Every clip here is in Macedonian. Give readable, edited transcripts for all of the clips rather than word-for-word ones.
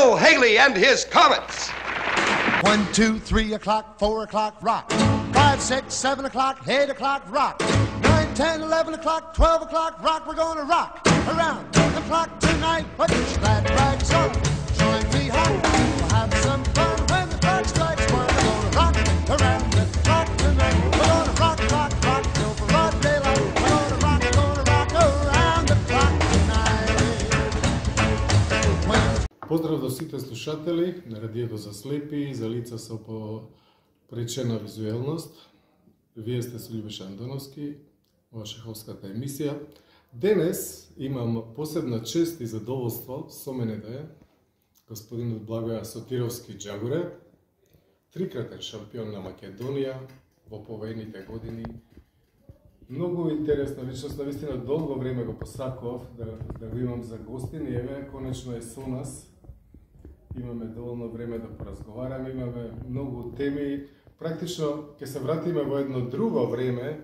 Bill Haley and his Comets. 1, 2, 3 o'clock, 4 o'clock, rock. 5, 6, 7 o'clock, 8 o'clock, rock. 9, 10, 11 o'clock, 12 o'clock, rock. We're gonna rock around the clock tonight. Put that rags on, join me home. We'll have some fun when the clock strikes 1. We're gonna rock around the clock tonight. We're gonna rock, rock, rock till broad daylight. We're gonna rock around the clock tonight. Поздрав до сите слушатели на радиото за слепи и за лица со попречена визуелност. Вие сте со Љубоша Андоновски, ова шаховската емисија. Денес имам посебна чест и задоволство со мене да е господинот Благоја Сотировски Џагуре, трикратен шампион на Македонија во повојните години. Многу интересна личност, навистина долго време го посакував да го имам за гостин и еве конечно е со нас. Имаме доволно време да поразговараме, имаме многу теми. Практично ќе се вратиме во едно друго време,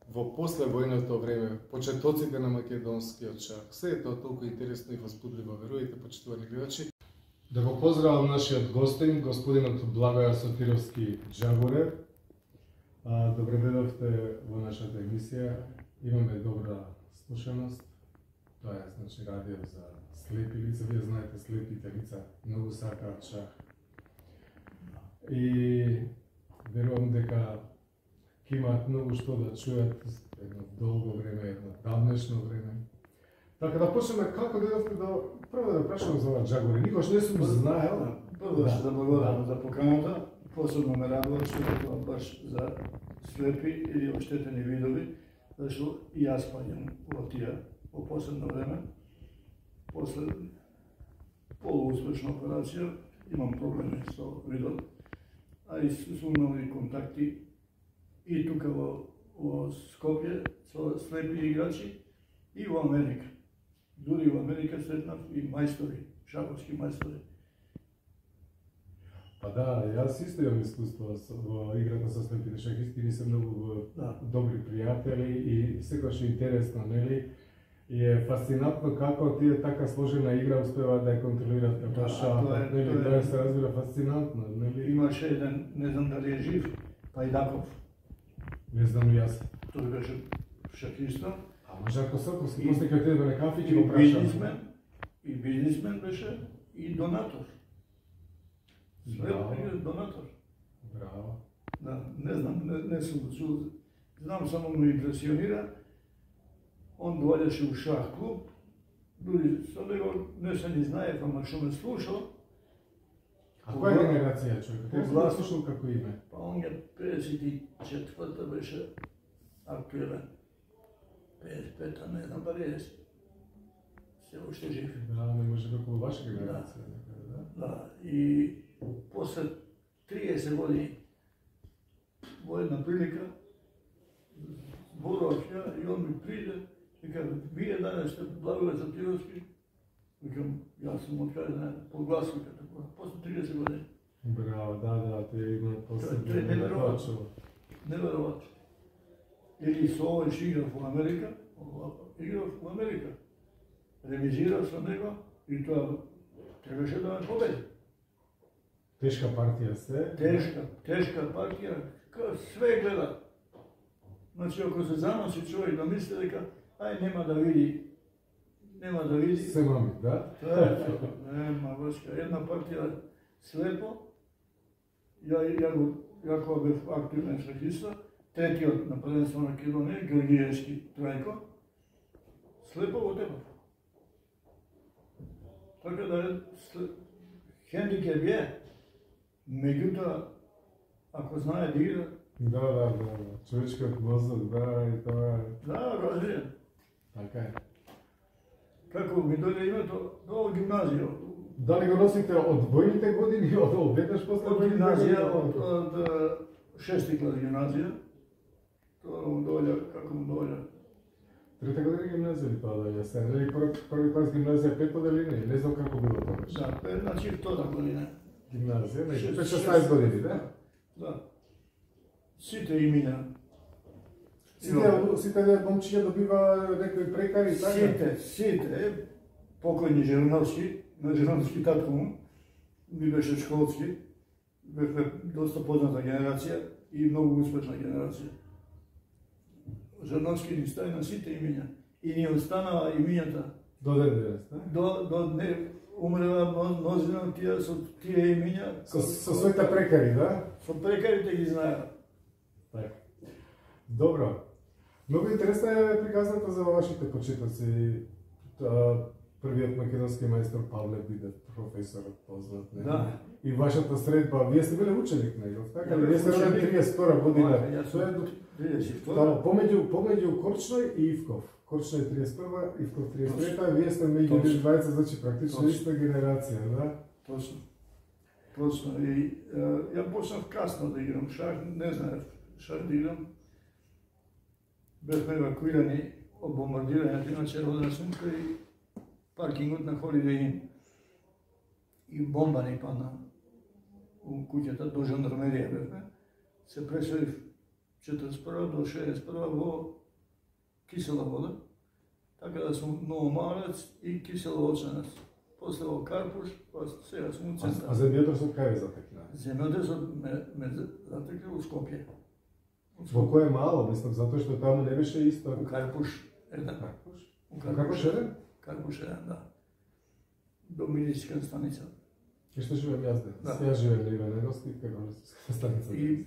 во послевојното време, почетоците на македонскиот шах. Се е тоа толку интересно и возбудливо, верујте, почитувани гледачи. Да го поздравам нашиот гостин, господинот Благоја Сотировски Џагуре. Добре дојдовте во нашата емисија. Имаме добра слушаност. Тоа е, значи, радио за слепи лица. Вие знаете, слепите лица многу сакаат шах. И верувам дека ќе имаат многу што да чујат едно долго време, едно давнешно време. Така да почнеме како дојдовте прво да прашам за ова Џагуре. Никош не сум знаел. Прво да благодарам за поканата. Посебно ме радува што е тоа баш за слепи или оштетени видови, зашто и јас паѓам во тие во последно време. После полууспешна операција имам проблеми со видот, а и сум имал контакти и тука во Скопје со слепи играчи и во Америка. Дури во Америка сретнав и мајстори, шаховски мајстори. Па да, јас исто имам искуство во играта со слепите шахисти, ни се многу добри пријатели и секогаш интересно, нели? И е фасцинатно како тие така сложена игра успеваат да ја контролираат како шахот, нели? Тоа се разбира фасцинатно, нели? Имаше еден, не знам дали е жив, Пајдаков. Не знам и јас. Тој беше шахиста. А Жарко Соковски, после кога отиде на кафе ќе го прашам. И бизнисмен беше и донатор. Браво. Донатор. Браво. Да, не знам, не сум го чул. Знам, само ме импресионира. Он доаѓаше у шах клуб. Дури со него не се ни знае, ама што ме слушал. А која генерација човек? Кој се слушал како име? Па он е 54-та беше актуелен. 55-та, не знам дали е се уште жив. Да, не може како ваша генерација. Да, и после 30 години во една прилика зборував ја и он ми приде и каже, вие данес сте Благоја Сотировски. Викам, јас сум од каде да подгласниката, после 30 години. Браво, да, тој има Тоа е неверојатно. Неверојатно. Или со овој што играв во Америка, ремизирав со него и тоа требаше да ме победи. Тешка партија се. Тешка партија, све гледа. Значи, ако се заноси човек да мисли дека ај нема да види. Се мами, да? Тоа е, нема врска. Една партија слепо, ја кога бев активен шахиста, третиот на првенство на Македонија, Георгиевски Трајко, слепо го тепав. Така да хендикеп е, меѓутоа, ако знае да игра... Да, човечкиот мозок, да, и тоа е... Да, развиен. Така е. Како ми дојде името до гимназија. Дали го носите од војните години, од веднаш после Од војните гимназија, години? од 6-ти клас гимназија. Тоа му дојде, како му дојде. Трета година гимназија ли тоа дојде се? Нели први клас гимназија пето дали не? Не знам како било тоа. Да, значи втора година. Гимназија, не, 16 години, да? Да. Сите имиња. Сите момчиња добива некои прекари, така? Сите, покојни Жириновски, на Жириновски татко му, ми беше школски, бевме доста позната генерација и многу успешна генерација. Жановски ни стави на сите имиња и ни останава имињата. До ден денес, да? До не умрела мнозина тие со тие имиња. Со своите прекари, да? Со прекарите ги знаеа. Така. Добро. Многу интересна е приказната за вашите почетоци. Првиот македонски мајстор Павле биде професорот познат, не? Да. И вашата средба, вие сте биле ученик негов, така ли? Вие сте ученик. роден 32 година. Јас сум 32. Да, помеѓу Корчној и Ивков. Корчној 31, Ивков 33, вие сте меѓу Точно. двајца, значи практично Точно. иста генерација, да? Точно. Точно. И ја почнав касно да играм шах, не знаев шах да играм. Бевме евакуирани од бомбардирањето, иначе роден сум кај паркингот на Holiday Inn. И бомба ни падна у куќата до жандармерија бевме. Се преселив 41 до 61 во кисела вода, така да сум многу малец и киселооченец. После во Карпуш, па сега сум у центар. А земјотресот кај ве затекна? Земјотресот ме затекна у Скопје. Во кое мало, мислам, затоа што таму не беше исто. У Карпуш еден. Карпуш? У Карпуш еден? Карпуш еден, да. До милиција станица. И што живеем јас денес? Да. Јас живеем на Иваненовски, кај милиција станица. И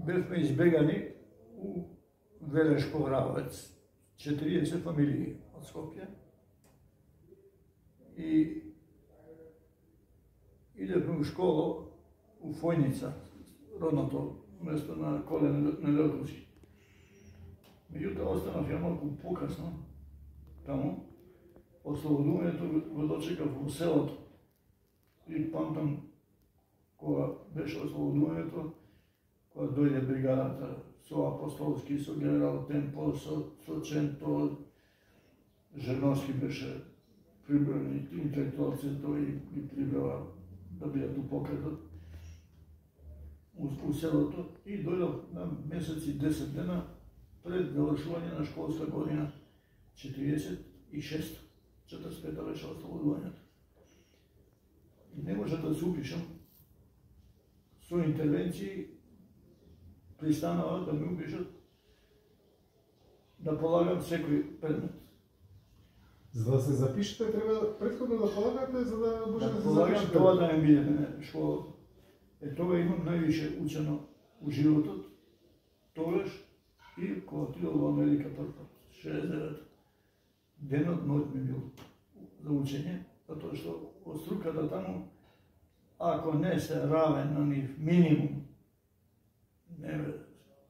бевме избегани у Велешко Равец, 40 фамилии од Скопје. И идевме у школа у Фојница, родното место на Коле Нелјотовски. Меѓутоа останав ја малку покасно таму. Ослободувањето го дочекав во селото. И памтам кога беше ослободувањето, кога дојде бригадата со Апостолски, со генерал Темпо, со Ченто, Жерновски беше прибран и интелектуалци тој ги прибрава да бидат у покретот у селото и дојдов на месеци 10 дена пред завршување на школска година 46. 45 беше ослободувањето. И не може да се упишам со интервенции пристанава да ме упишат да полагам секој предмет. За да се запишете, треба претходно да полагате, за да може да се Полагам запишете. тоа да не биде мене школата. Тога имам највише учено у животот, тогаш и кога отидов во Америка прв пат, 69. Денот ноќ ми бил за учење, затоа што од струката таму, ако не се равен на нив минимум,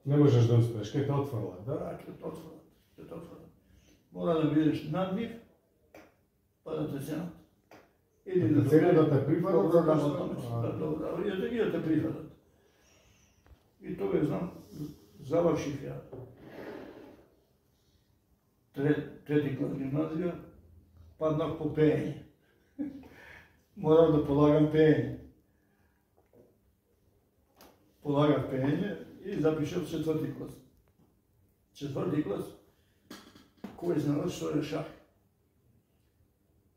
Не можеш да успееш, кај те отфрлат, да? да, ќе те отфрлат. Мора да бидеш над нив, па да те ценат. Или Да те ценат, да те прифатат, добро затоа работно што- место, да, добро, и да те прифатат. И тоа знам, завршив ја трети клас гимназија, паднав по пеење. Морав да полагам пеење. Полагав пеење и запишав четврти клас. Четврти клас, кој знал што е шах.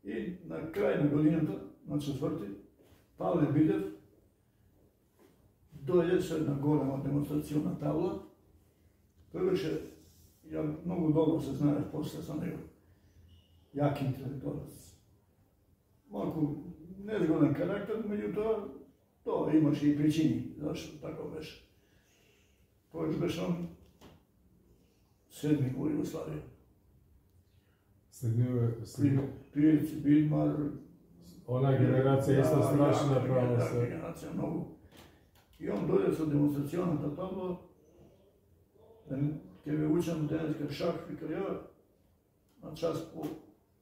И на крај на годината, на четврти, Павле Бидев дојде со една голема демонстрациона табла. Тој беше, ја многу добро се знаев после со него. Јак интелектуалец. Малку незгоден карактер, меѓутоа, тоа имаше и причини зашто така беше. Тој беше он седми во Југославија. Пирци, Бидмар, Она генерација исто страшна јака право се. генерација многу. И он дојде со демонстрационата табла, ќе ве учам денеска шах, вика ја, на час по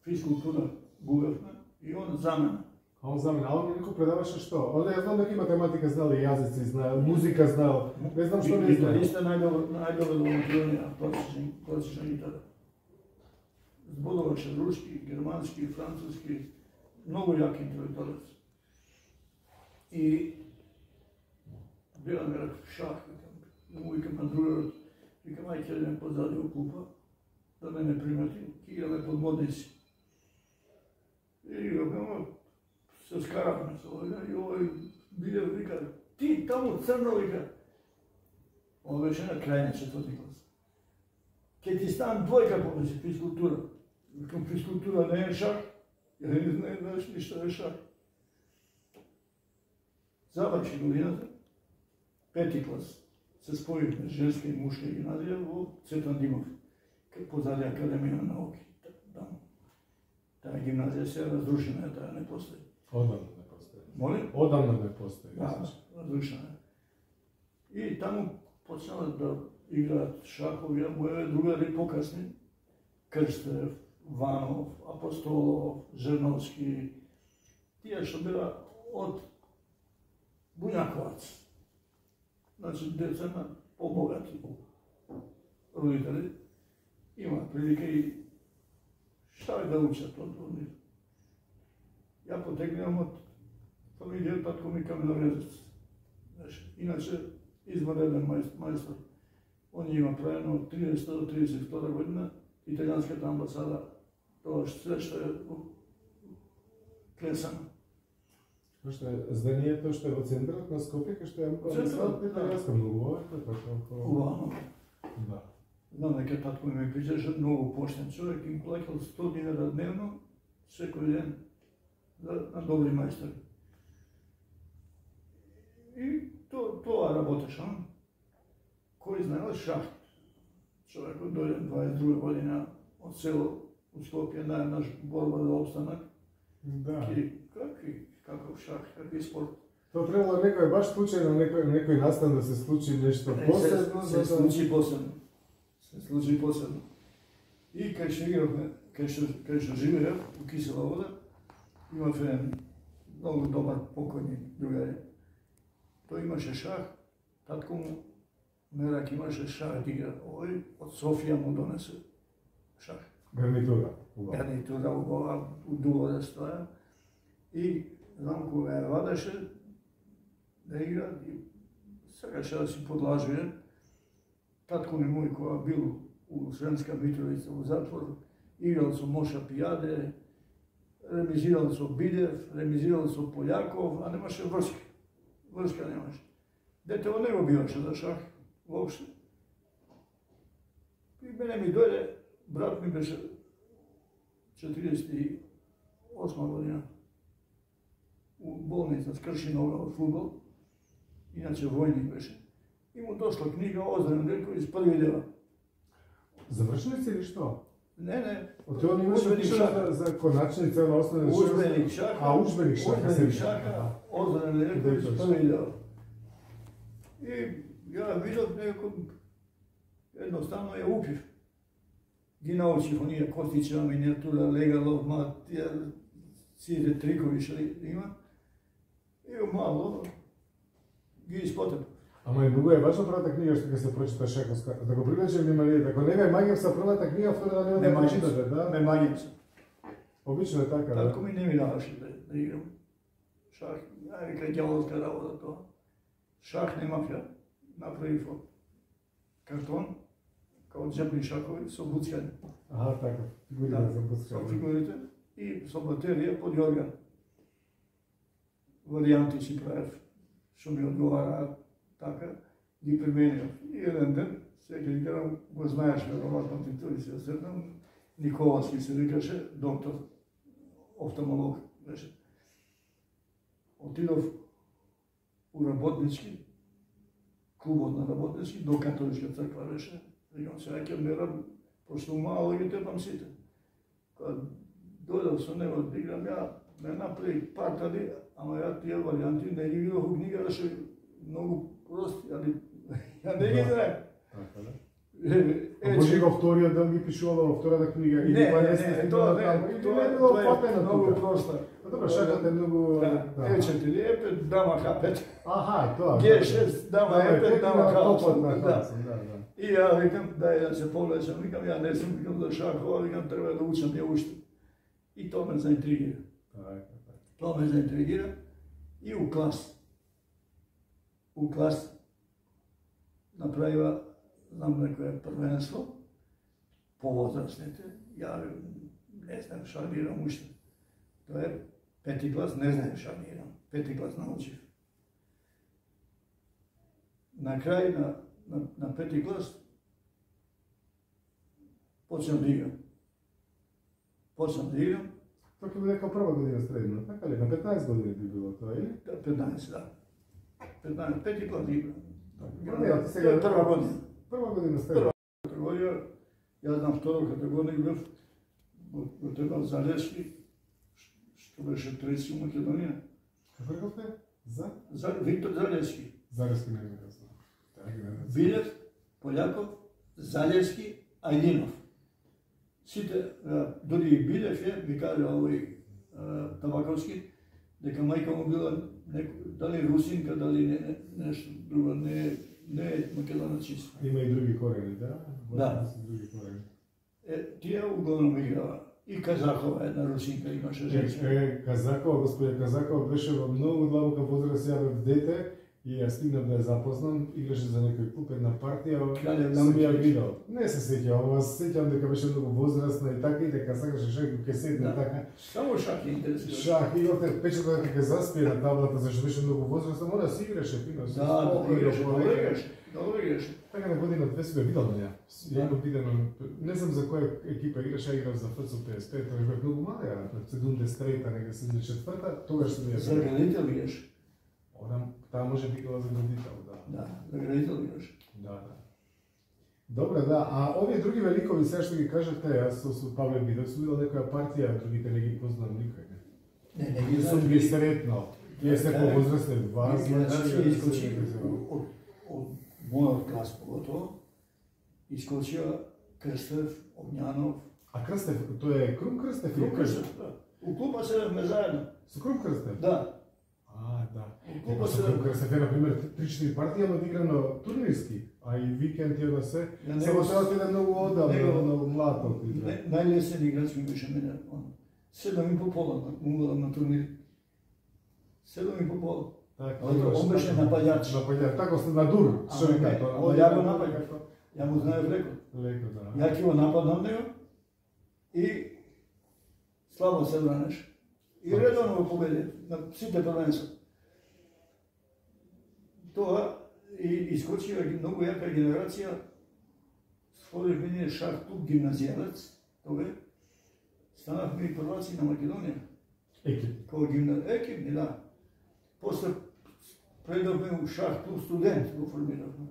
физкултура губевме, и он за мене. А он за мене, а он некој предаваше што? Он ја знам дека математика знал и јазици знал, музика знал, не знам што не знал. Гитариста најдобро во Македонија, класична гитара. Зборуваше руски, германски, француски, многу јак интелектуалец. И била ми реков шах, му викам на другарот, викам ај ќе идем позади у клупа, да мене примети, ќе играме под модници. И викам, се скарахме со овој и овој биле вика, ти таму црно вика. Он беше на крај на 4-ти клас. Ке ти ставам двојка повеќе физкултура. Викам физкултура не е шах, ја не знаеш ништо е шах. Заврши годината, 5-ти клас, се споивме женска и мушка гимназија во Цветан Димов, позади Академија на науки. Таа гимназија се разрушена, таа не постои. Одамна не постои. Моли? Одамна не постои. Да, разрушена. И таму почнала да играат шахови, а моје другари покасни, Крстев, Ванов, Апостолов, Жерновски, тие што била од Буњаковац. Значи, деца на побогати родители имаат прилика и шта да учат од нив. Ја потегнувам од фамилија татко ми каменорезец. Иначе, извонреден мајстор. Он има правено од 30 до 32 година италијанската амбасада, тоа се што е клесано. Што е зданието што е во центарот на Скопје, кај што е амбасадата италијанска, многу овака, така. Убавно. Да. Знам дека татко ми причаше многу поштен човек, им плаќал 100 динара дневно, секој ден, на добри мајстори. И тоа работеше. Кој знаел шахт? Човекот дојде 22 година од село у Скопје на една борба за опстанак. Да. И каков шах, какви спорт. Тоа требало некој баш случајно некој настан да се случи нешто посебно, се случи посебно. Се случи посебно. И кај што игравме, кај што живеев у Кисела вода, имав еден многу добар покојни другари. Тој имаше шах, татко му Мерак имаше шах да игра. Овој од Софија му донесе шах. Гарнитура. Гарнитура у дубо да стоја. И знам кога ја вадеше да игра и сакаше да си подлажуе. Татко ми мој кога бил у Сренска Митровица во затвор, играл со Моша Пијаде, ремизирал со Бидев, ремизирал со Полјаков, а немаше врска. Врска немаше. Детево не го биваше за шах, воопшто. И мене ми дојде, брат ми беше 48 година, у болница, скрши нога од фудбал, иначе војник беше. И му дошла книга Озрен Делковиќ први дела. Завршили си или што? Не. Од тоа имаше пишано за коначница на основна школа. Удžbenik шаха. А, удžbenik шаха. Удžbenik шаха, Озрен Делковиќ први дела. И ја видов некој, едноставно ја упив. Ги научив оние Костичева миниатура, Легалов, тие сите трикови што има. И мало ги испотеп. Ама и многу е важно првата книга што ќе се прочита шаховска. Да го привлече вниманието. Ако не ме маѓам са првата книга, втора да не прочитате, да? Не маѓам се. Обично е така, да? Татко ми не ми даваше да играм. Шах, вика ѓаволска работа тоа. Шах немав ја. Направив од картон, као джебни шахови со буцкање. Аха, така. Фигурите за буцкање. Со фигурите и со батерија под јорган. Варијанти си правев, што ми одговараат, така, ги применив. И еден ден, сега играм, го знаеш, веројатно ти тој се осетам, Николаски се викаше, доктор, офталмолог беше. Отидов у работнички, клубот на работнички, до католичка црква беше. Викам, сега ќе мерам, пошто мало ги тепам сите. Кога дојдов со него да играм, ја ме направи партали, ама ја тие варијанти не ги видов у книга, да ше многу прости, али ја не ги знаем. Така, да? Може го вториот дел ги пишувала во втората книга или па не се тоа не било платено многу просто. Добро, шахот е многу Е4 Е5, дама H5. Аха, тоа. Г6, дама Е5, дама H8. Да. И ја викам, дај да се повлечам, викам, ја не сум, викам за шахова, викам, треба да учам ја уште. И тоа ме заинтригира. Тоа ме заинтригира и у клас направива, знам некоја првенство, по возрастните, ја не знам, шалирам уште. Тоа е Пети клас не знаев шах да играм. Пети клас научив. На крај на пети клас почнав да играм. Тоа ќе биде како прва година средна, така ли? На 15 години би било тоа, или? 15, да. 15, пети клас играм. Сега Прва година. Прва година средна. Категорија, јас на втора категорија играв во Требал Залевски, што беше трети у Македонија. Како рековте? За Виктор Залевски. Залевски не ми знам. Билев, Полјаков, Залевски, Ајдинов. Сите, дори и Билев ми кажа овој Табаковски, дека мајка му била дали русинка, дали нешто друго, не е македонец. Има и други корени, да? Да. Други корени. Тие углавном играва. И Казакова, една русинка имаше женска. Казакова, господја Казакова беше во многу длабока возраст, ја бев дете и ја стигнав да ја запознам, играше за некој клуб, една партија, сум ја видел. Не се сеќавам, ама се сеќавам дека беше многу возрастна и така и дека сакаше шах ќе седне така. Само шах е интересно. Шах, имате печата дека ќе заспие на таблата, зашто беше многу возрастна, мора да си играше фино. Да, добро играше. Така на година две си бе видел на ја. Ја имам видено, не знам за која екипа играше, играв за ФЦ 55, тоа бев многу мал, ја, 73-та, нега 74-та, тогаш сум ја. За градител играше. Одам, таа може би била за градител, да. Да, за градител играше. Да. Добре, да, а овие други великови, сега што ги кажете, јас со Павле Бидев сум видел некоја партија, другите не ги познам никој, не. Не ги сум ги сретнал. Тие се повозрастни од вас, значи, од мојот клас поготово, искочија Крстев, Огњанов. А Крстев, тоа е Крум Крстев? Крум Крстев, да. У клуба седевме заедно. Со Крум Крстев? Да. Да. Клуба Со Крум Крстев е, например, 3-4 партии, ама играно турнирски, а и викенд ја да се. Само тоа ти е многу одамно, многу млад од игра. Најлесен играч ми беше мене. 7,5 пола на турнир. 7,5 Он беше нападјач. Нападјач, така на дур, што ви кажа. Ја го нападав. Ја му знаев леко. Леко, да. Ја ќе го нападнам него и слабо се бранеш. И редовно го победи на сите првенства. Тоа и искочија многу јака генерација. Сходивме ние шах клуб гимназијалец, тога станавме и прваци на Македонија. Екип. Екипни, да. После предавме у шах клуб студент го формиравме.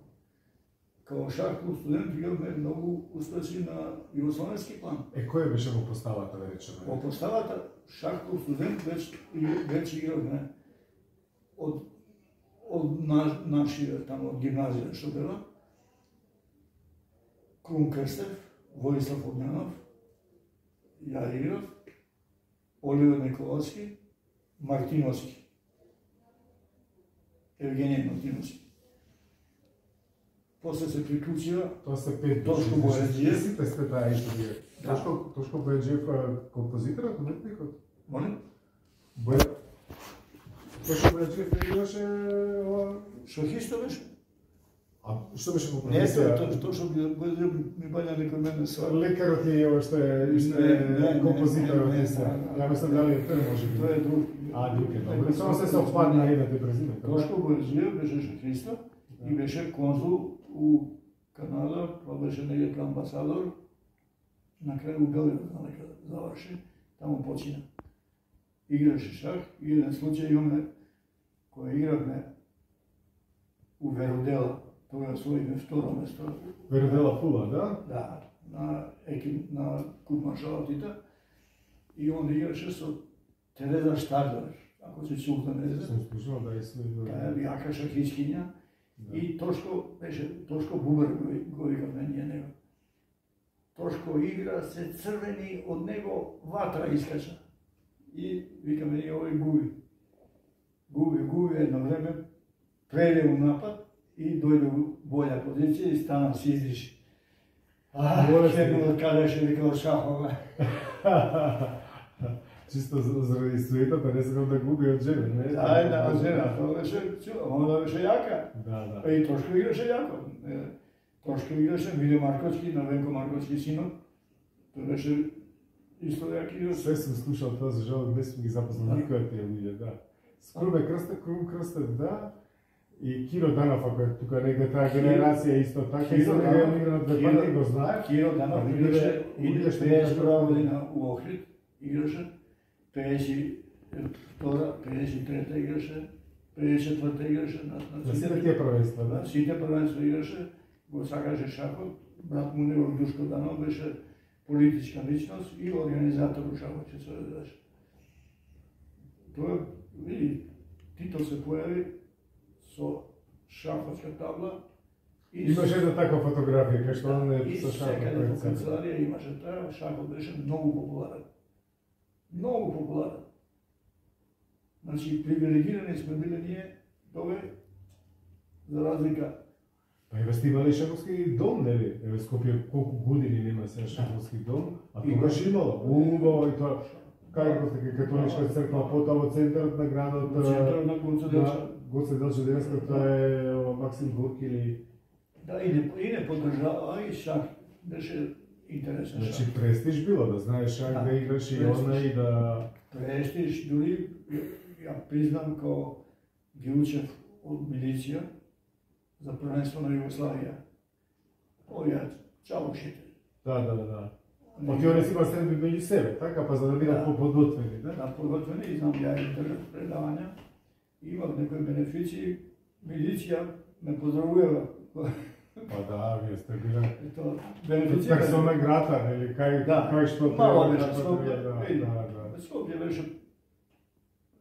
Као шах клуб студент имаме многу успешни на југословенски план. Кој беше во поставата, да речеме? Во поставата шах клуб студент веќе игравме од нашиот тамо од гимназија што била. Крум Крстев, Воислав Огњанов, ја играв, Оливер Николовски, Мартиновски. Евгениј Мартиновски. После се приклучија Тоа се 5 Тошко Бојаджиев. Сите сте таа историја. Тошко Бојаджиев композиторот, уметникот? Молим? Тошко Бојаджиев играше ова... Шахисто беше? А што беше во Не, композиција? тоа што ми бања некој мене свар. Лекарот е ова што е композиторот. Ја мислам дали е тој може би. Тоа е друг. Друг е, добро. Само се совпадна едната презиме. Тошко Бојаджиев беше шахиста и беше конзул у Канада, тоа беше некај амбасадор. На крај у Белград заврши, таму почина. Играше шах и еден случај имаме која игравме у Веродела. Тога освоиме второ место. Веродела Фула, да? Да, на Куп маршалатите. И он играше со Тереза Штадлер, ако се чувате не Сум слушал да е Таа е јака шахискиња. И Тошко Бубер го викавме ние него. Тошко игра, се црвени од него ватра искача. И викаме ние овој губи едно време, преде у напад и дојде у боља позиција и стана се издиши. Ке му кажеше вика шахова. Чисто заради суетата, не сакам да губи од жена, не? Да, од жена, тоа беше јака. Да. И Тошко играше јако. Тошко играше, Миле Марковски, на Венко Марковски синот. Тој беше Исто јак играч. Се сум слушал тоа, за жал не сум ги запознал никој од тие луѓе, да. Скруме Крстев, да, и Киро Данов, ако е тука негде таа генерација исто така, и за него игра на две партии, го знаев. Киро Данов играше и 51 година у Охрид, играше, 53 играше, 54 играше на сите тие првенства, да? На сите првенства играше, го сакаше шахот, брат му негов Душко Данов беше политичка личност и организатор у шахот, ќе се ведеш. Тоа, види, Тито се појави со шаховска табла. Имаше една таква фотографија, кај што он е со шахот. И секаде по канцеларија имаше таа, шахот беше многу популарен. Многу популарен. Значи, привилегирани сме били ние, тоа за разлика. Па еве сте имали шаховски дом, нели? Еве Скопје колку години нема сега шаховски дом, а тогаш имало. Убаво и тоа. Кај го така католичка црква, потоа во центарот на градот. Центарот на Гоце Делчев. Гоце Делчев, тоа е Максим Горки или... Да, и не поддржава, и шах беше интересен шах. Значи престиж било, да знаеш шах, да играш и она и да... Престиж, дури, ја признам као ги учев од милиција за првенство на Југославија. Овие чалушите. Да. Оти они си има средби меѓу себе, така, па за да бидат подготвени, да? Да, подготвени, и знам, ја им држав предавања. Имав некои бенефиции, милиција ме поздравува. Па да, вие сте биле... Бенефиција... Персона грата, или кај што треба... Мало беше Скопје, да. Скопје беше,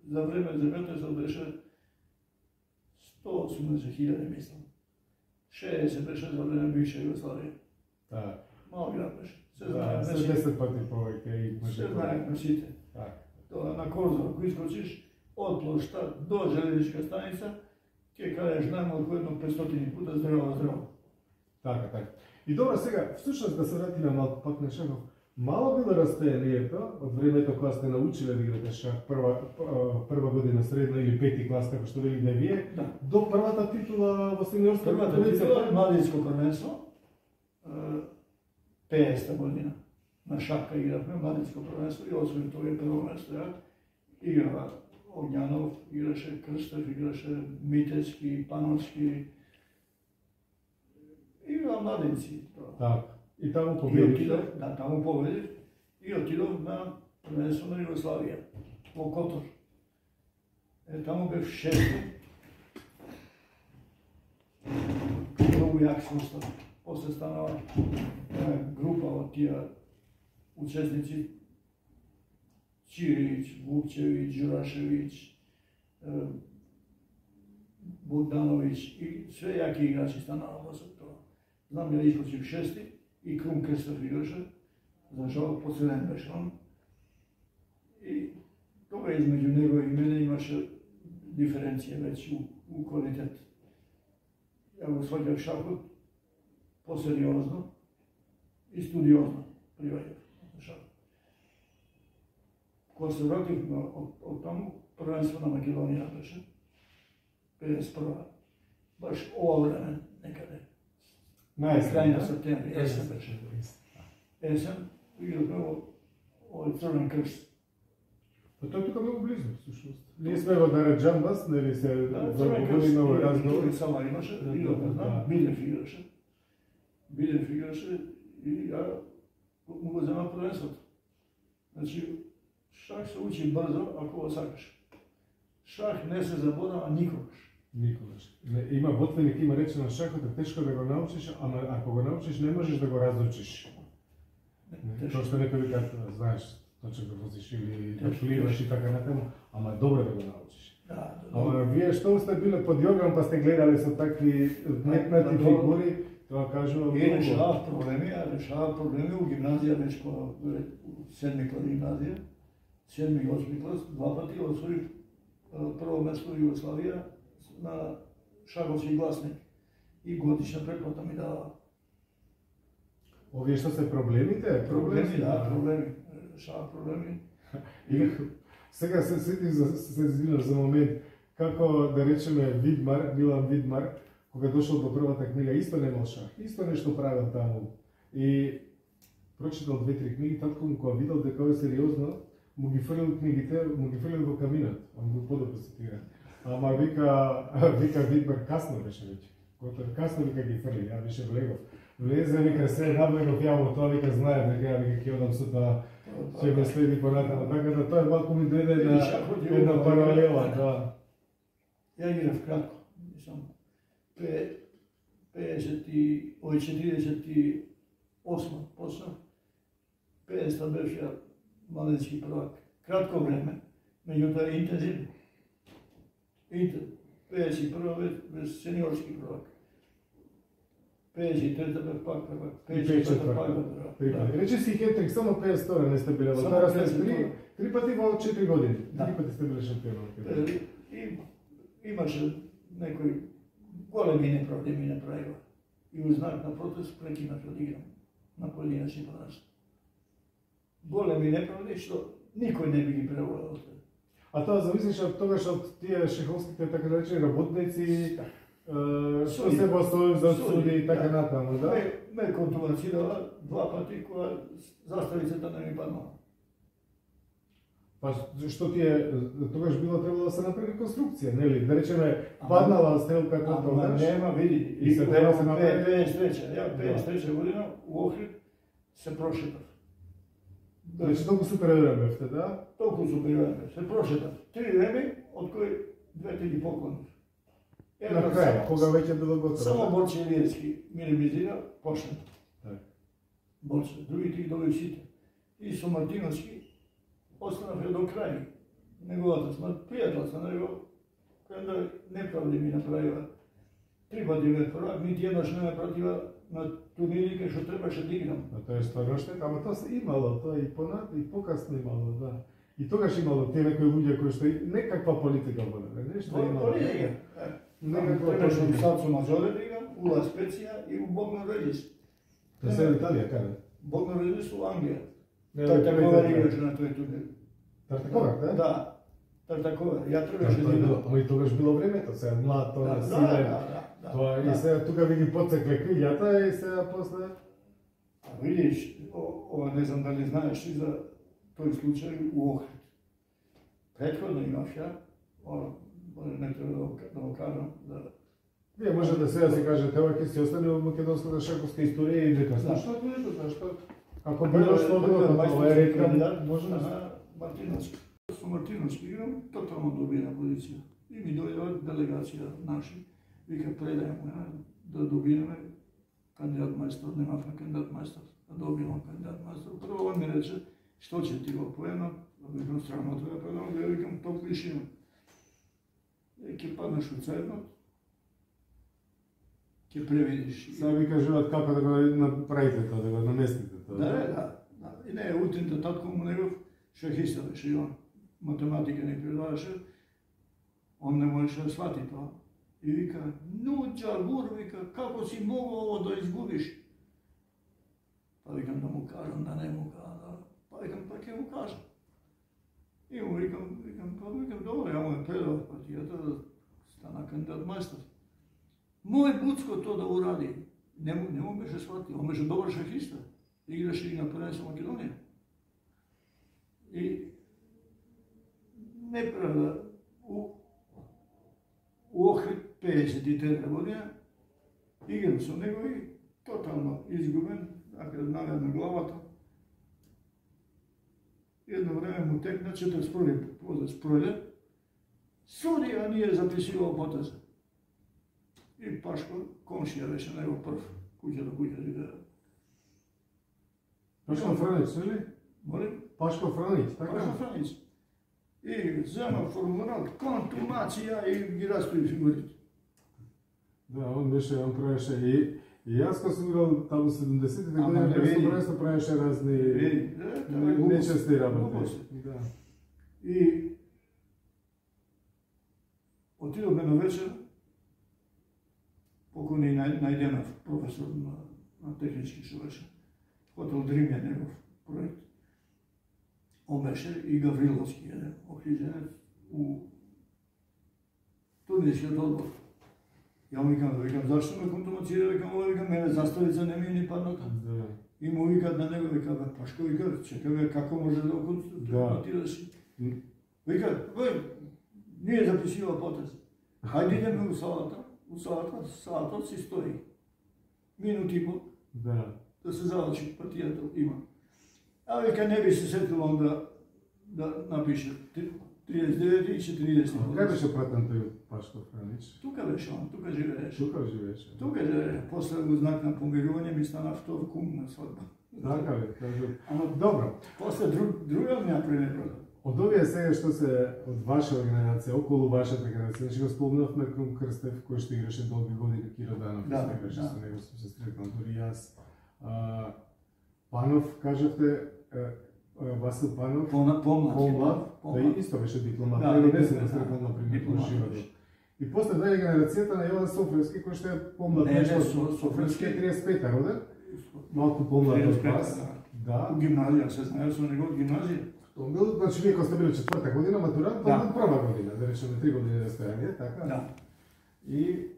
за време земјотресот беше 180.000, мислам. 60 беше за време бивша Југославија. Да. Мал град беше. Се знаеме сите. 10 пати повеќе и може. Се знаеме сите. Тоа на Корзор, ако искочиш од плошта до железничка станица, ќе кажеш најмалку едно 500 пута здраво. Така. И добро, сега, всушност да се вратиме малку пак на шахов. Мало било растојанието од времето кога сте научиле да играте шах, прва година средно или пети клас, како што велите вие, до првата титула во сениорска првата титула младинско првенство, 50 година. На шапка игравме младинско првенство и освен тоа е прво место. Играва Огњанов, играше Крстев, играше Митески, Пановски. Играва младинци. Так. И таму победив? Да, таму победив и отидов на првенство на Југославија во Котор. Таму бев шести. Многу јак состав. После станала група од тие учесници Чирич, Вукчевиќ, Джурашевиќ, Богдановиќ и све јаки играчи станала после тоа. Знам ја искочив шести и Крум Крстев играше, за жал последен беше он. И тога измеѓу него и мене имаше диференција веќе у квалитет. Ја го сваќав шахот посериозно и студиозно приваѓав шахот. Кога се вратив од таму, првенство на Македонија беше, 51. Баш ова време некаде. Крај на септември, есен беше. Есен, игравме овој Црвен крст. Па тоа тука многу близо, всушност. Ние сме во Дараџамбас, нели се заговориме овој разговор. Сама имаше, игравме, знам, Бидев играше и ја му го зема првенството. Значи, шах се учи брзо, ако го сакаш. Шах не се заборава никогаш. Никогаш. Има ботвеник, има речено шахот е тешко да го научиш, ама ако го научиш не можеш да го разучиш. Тоа што некој вика, знаеш, точно да возиш или да пливаш и така натаму, ама е добро да го научиш. Ама вие што сте биле под јоган па сте гледале со такви метнати фигури, тоа кажува и решавав проблеми у гимназија, веќе по седми клас гимназија, седми и осми клас, два пати освоив прво место во Југославија на шаховски гласник и годишна преплата ми дава. Овие што се проблемите? Проблеми, да, проблеми. Решава проблеми. И сега се сетив за момент како да речеме Видмар, Милан Видмар, кога дошол до првата книга, исто немал шах, исто нешто правил таму. И прочитал 2-3 книги, татко му кога видел дека ова е сериозно, му ги фрлил книгите, му ги фрлил во каминот, он го подобро цитира. Ама вика Витбер касно беше веќе. Готово касно вика ги фрли, ја беше влегов. Влезе вика се наблегов ја во тоа вика знае дека ја вика ќе одам сутра ќе ме следи понатаму. Така да тоа малку ми дојде на една паралела, да. Ја играв кратко, мислам 48 почнав, 50 беше младенски prvак. Кратко време, меѓутоа интензивно. 51 без сениорски prvак. 53 бе пак prvак, 54 пак prvак. Рече си хетрик, само 500 не сте биле во тоа сте три пати во 4 години. Три пати сте биле шампион. Имаше некои големи неправди ми направива. И у знак на протест прекинав да играм на поединечни првенства. Големи неправди што никој не би ги преволел. А тоа зависиш од тогаш од тие шеховските така да речени работници, што се бастовим за суди и така натаму, да? Ме контумацирала 2 пати кога заставицата не ми паднала. Па што тие тогаш било требало да се направи реконструкција, нели? Да речеме паднала стрелката тогаш. Нема, види. И се треба се направи 53. Ја 53 година у Охрид се прошетав. Значи толку супериорен бевте, да? Толку супериорен бев. Се прошетав. 3 реми, од кои 2 ги поклонив. На крај, кога веќе било готово. Само Борче Илиевски ми ремизира, почнат. Так. Борче, другите ги доби сите. И со Мартиновски останав до крај. Неговата смрт, пријател со него, кој неправди ми направила. 3 пати бе првак, нити еднаш не ме пратива на турнири кај што требаше да играм. А тоа е стварно штета, ама тоа се имало, тоа и понат и покасно имало, да. И тогаш имало тие некои луѓе кои што некаква политика воделе, нешто имало. Политика. Некаква Требаше у политика. Сацо Мазоре да играм, у Ла Специја и у Богдан Редис. Тоа се Италија, каде? Богдан Редис у Англија. Не, Тартакова играше на тој турнир. Тартакова, да? Да. Тартакова. Ја требаше да играм. Ама и тогаш било времето, сега млад, тоа силен. Тоа и сега тука ви ги подсекле крилјата и сега после. А видиш, ова не знам дали знаеш и за тој случај у Охрид. Претходно имав ја, не треба да го кажам, да. Вие може да сега се кажете, ова ќе си остане во македонската шаковска историја и дека Зашто? зашто? Ако било што било, ова е ретка, може да се. Мартиновски. Со Мартиновски играм, тотално добина позиција. И ми дојдува делегација наши, вика предајам да добиеме кандидат мајстор, немавме кандидат мајстор, да добиеме кандидат мајстор. Прво он ми рече, што ќе ти го поемам, викам странното да предам, да викам топ лишина. И ќе паднеш у цернот, ќе превидиш. Сега ви кажуваат како да го направите тоа, да го наместите тоа. Да. И не, утинта татко му негов шахиста беше и он. Математика не предаваше, он не можеше да свати тоа. И вика, ну Джагур, вика, како си могол ово да изгубиш? Па викам да му кажам, да не му кажам, па викам, па ќе му кажам. И му викам, добро, ја му е предав партијата да стана кандидат мајстор. Мој Буцко тоа да уради, не му беше свати, он беше добар шахиста, играше и на првенство Македонија. И неправда, у Охрид 53 година, играм со него и тотално изгубен, ако навед на главата. Едно време му текна 41 позац пројде, суди, а ние записувал потеза. И Пашко, комшија беше него прв, куќа до куќа живеа. Пашко Франич, нели? Молим? Пашко Франич, така? Пашко Франич. И зема формулат, контумација и ги растои фигурите. Да, он правеше и јас кога сум играл таму 70-те години, просто правеше разни нечести работи. Да. И отидовме на вечер, покони Најденов, професор на технички што беше, хотел Дримја негов проект. Он беше и Гавриловски, охриđenец у турнирскиот одбор. Ја му викам, зашто ме контумацира, викам, мене заставица не ми ни падната. И му викат на него, вика, Пашко, вика, чекай, како може да отидеш? Вика, ние записува потез. Хајде идеме у салата. У салата си стои. Минут и пол. Да се заврши партијата има. А вика, не би се сетил онда да напише 39 и 40. Кај беше пратен тој Пашко Франич? Тука беше он, тука живееше. Тука живееше. После го знак на помирување ми стана втор кум на свадба. Така ли, кажу. Ама Добро. после друга ми ја пренеброда. Од овие сега што се од ваша генерација, околу вашата генерација, значи го спомнавме Крум Крстев, кој што играше долги години, Киро Данов, играше со него, се сретнал дури јас. Панов, кажавте, Васил Панов, помлад, тој исто беше дипломат, него не се сретнал на пример во животот. И после дојде генерацијата на Јован Софревски, кој што е помлад, Софревски е 35-та роден, малку помлад од вас. Да. У гимназија, се знае со него од гимназија. Тоа бил, значи вие кога сте били 4-та година матурант, тоа бил прва година, да речеме 3 години растојање, така? Да. И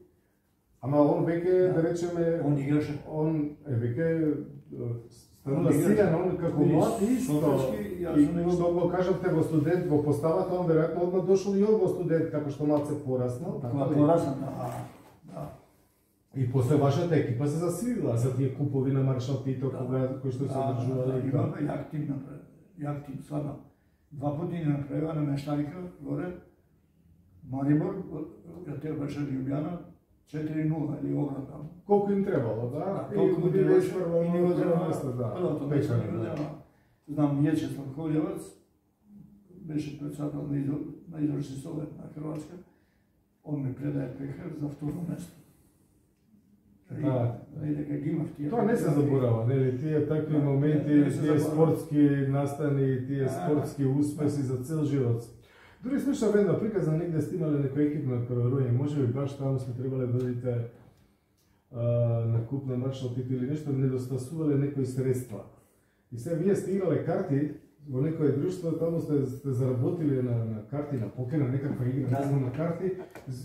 ама он веќе, да речеме, он играше. Он веќе станува силен, он како млад исто. И што го кажавте во студент во поставата, он веројатно одма дошол и он во студент, како што малце пораснал. Пораснал, да. И после вашата екипа се засилила за тие купови на Маршал Тито, кои што се одржувале. Имаме јак тим направи. Јак тим, свадна. 2 пати не направила на Мештарика, горе, Марибор, ја беше Лјубјана, 4-0 или обратно. Колку им требало, да? Толку им требаше и ни го зема, да. Првото место ни го зема. Знам, Јечеслав Колјевац, беше председател на Изvršni совет на Хрватска, он ми предаде пехар за второ место. Тоа не се заборава, нели, тие такви моменти, тие спортски настани, тие спортски успеси за цел живот. Дури слушав една приказна, негде сте имале некој екип на првороње, може би баш таму сме требале да одите на куп на Маршал Тито или нешто, недостасувале некои средства. И сега вие сте играле карти во некое друштво, таму сте заработиле на карти, на покер, на некаква игра, на карти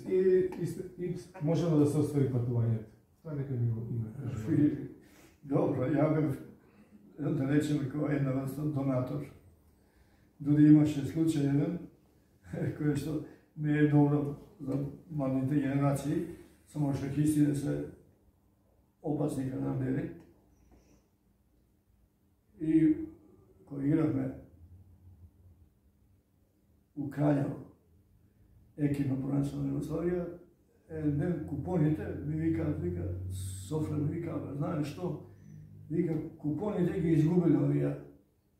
и можело да се оствари патувањето. Тоа нека ми го има. Добро, ја бев, да речеме, која една врста донатор. Дури имаше случај еден, кој што не е добро за младите генерации, само шахистите се опасни хранадери. И кој игравме у Краљево, екипно првенство на Југославија, ден купоните ми вика Софре ми вика, знаеш што? Вика, купоните ги изгубили овие.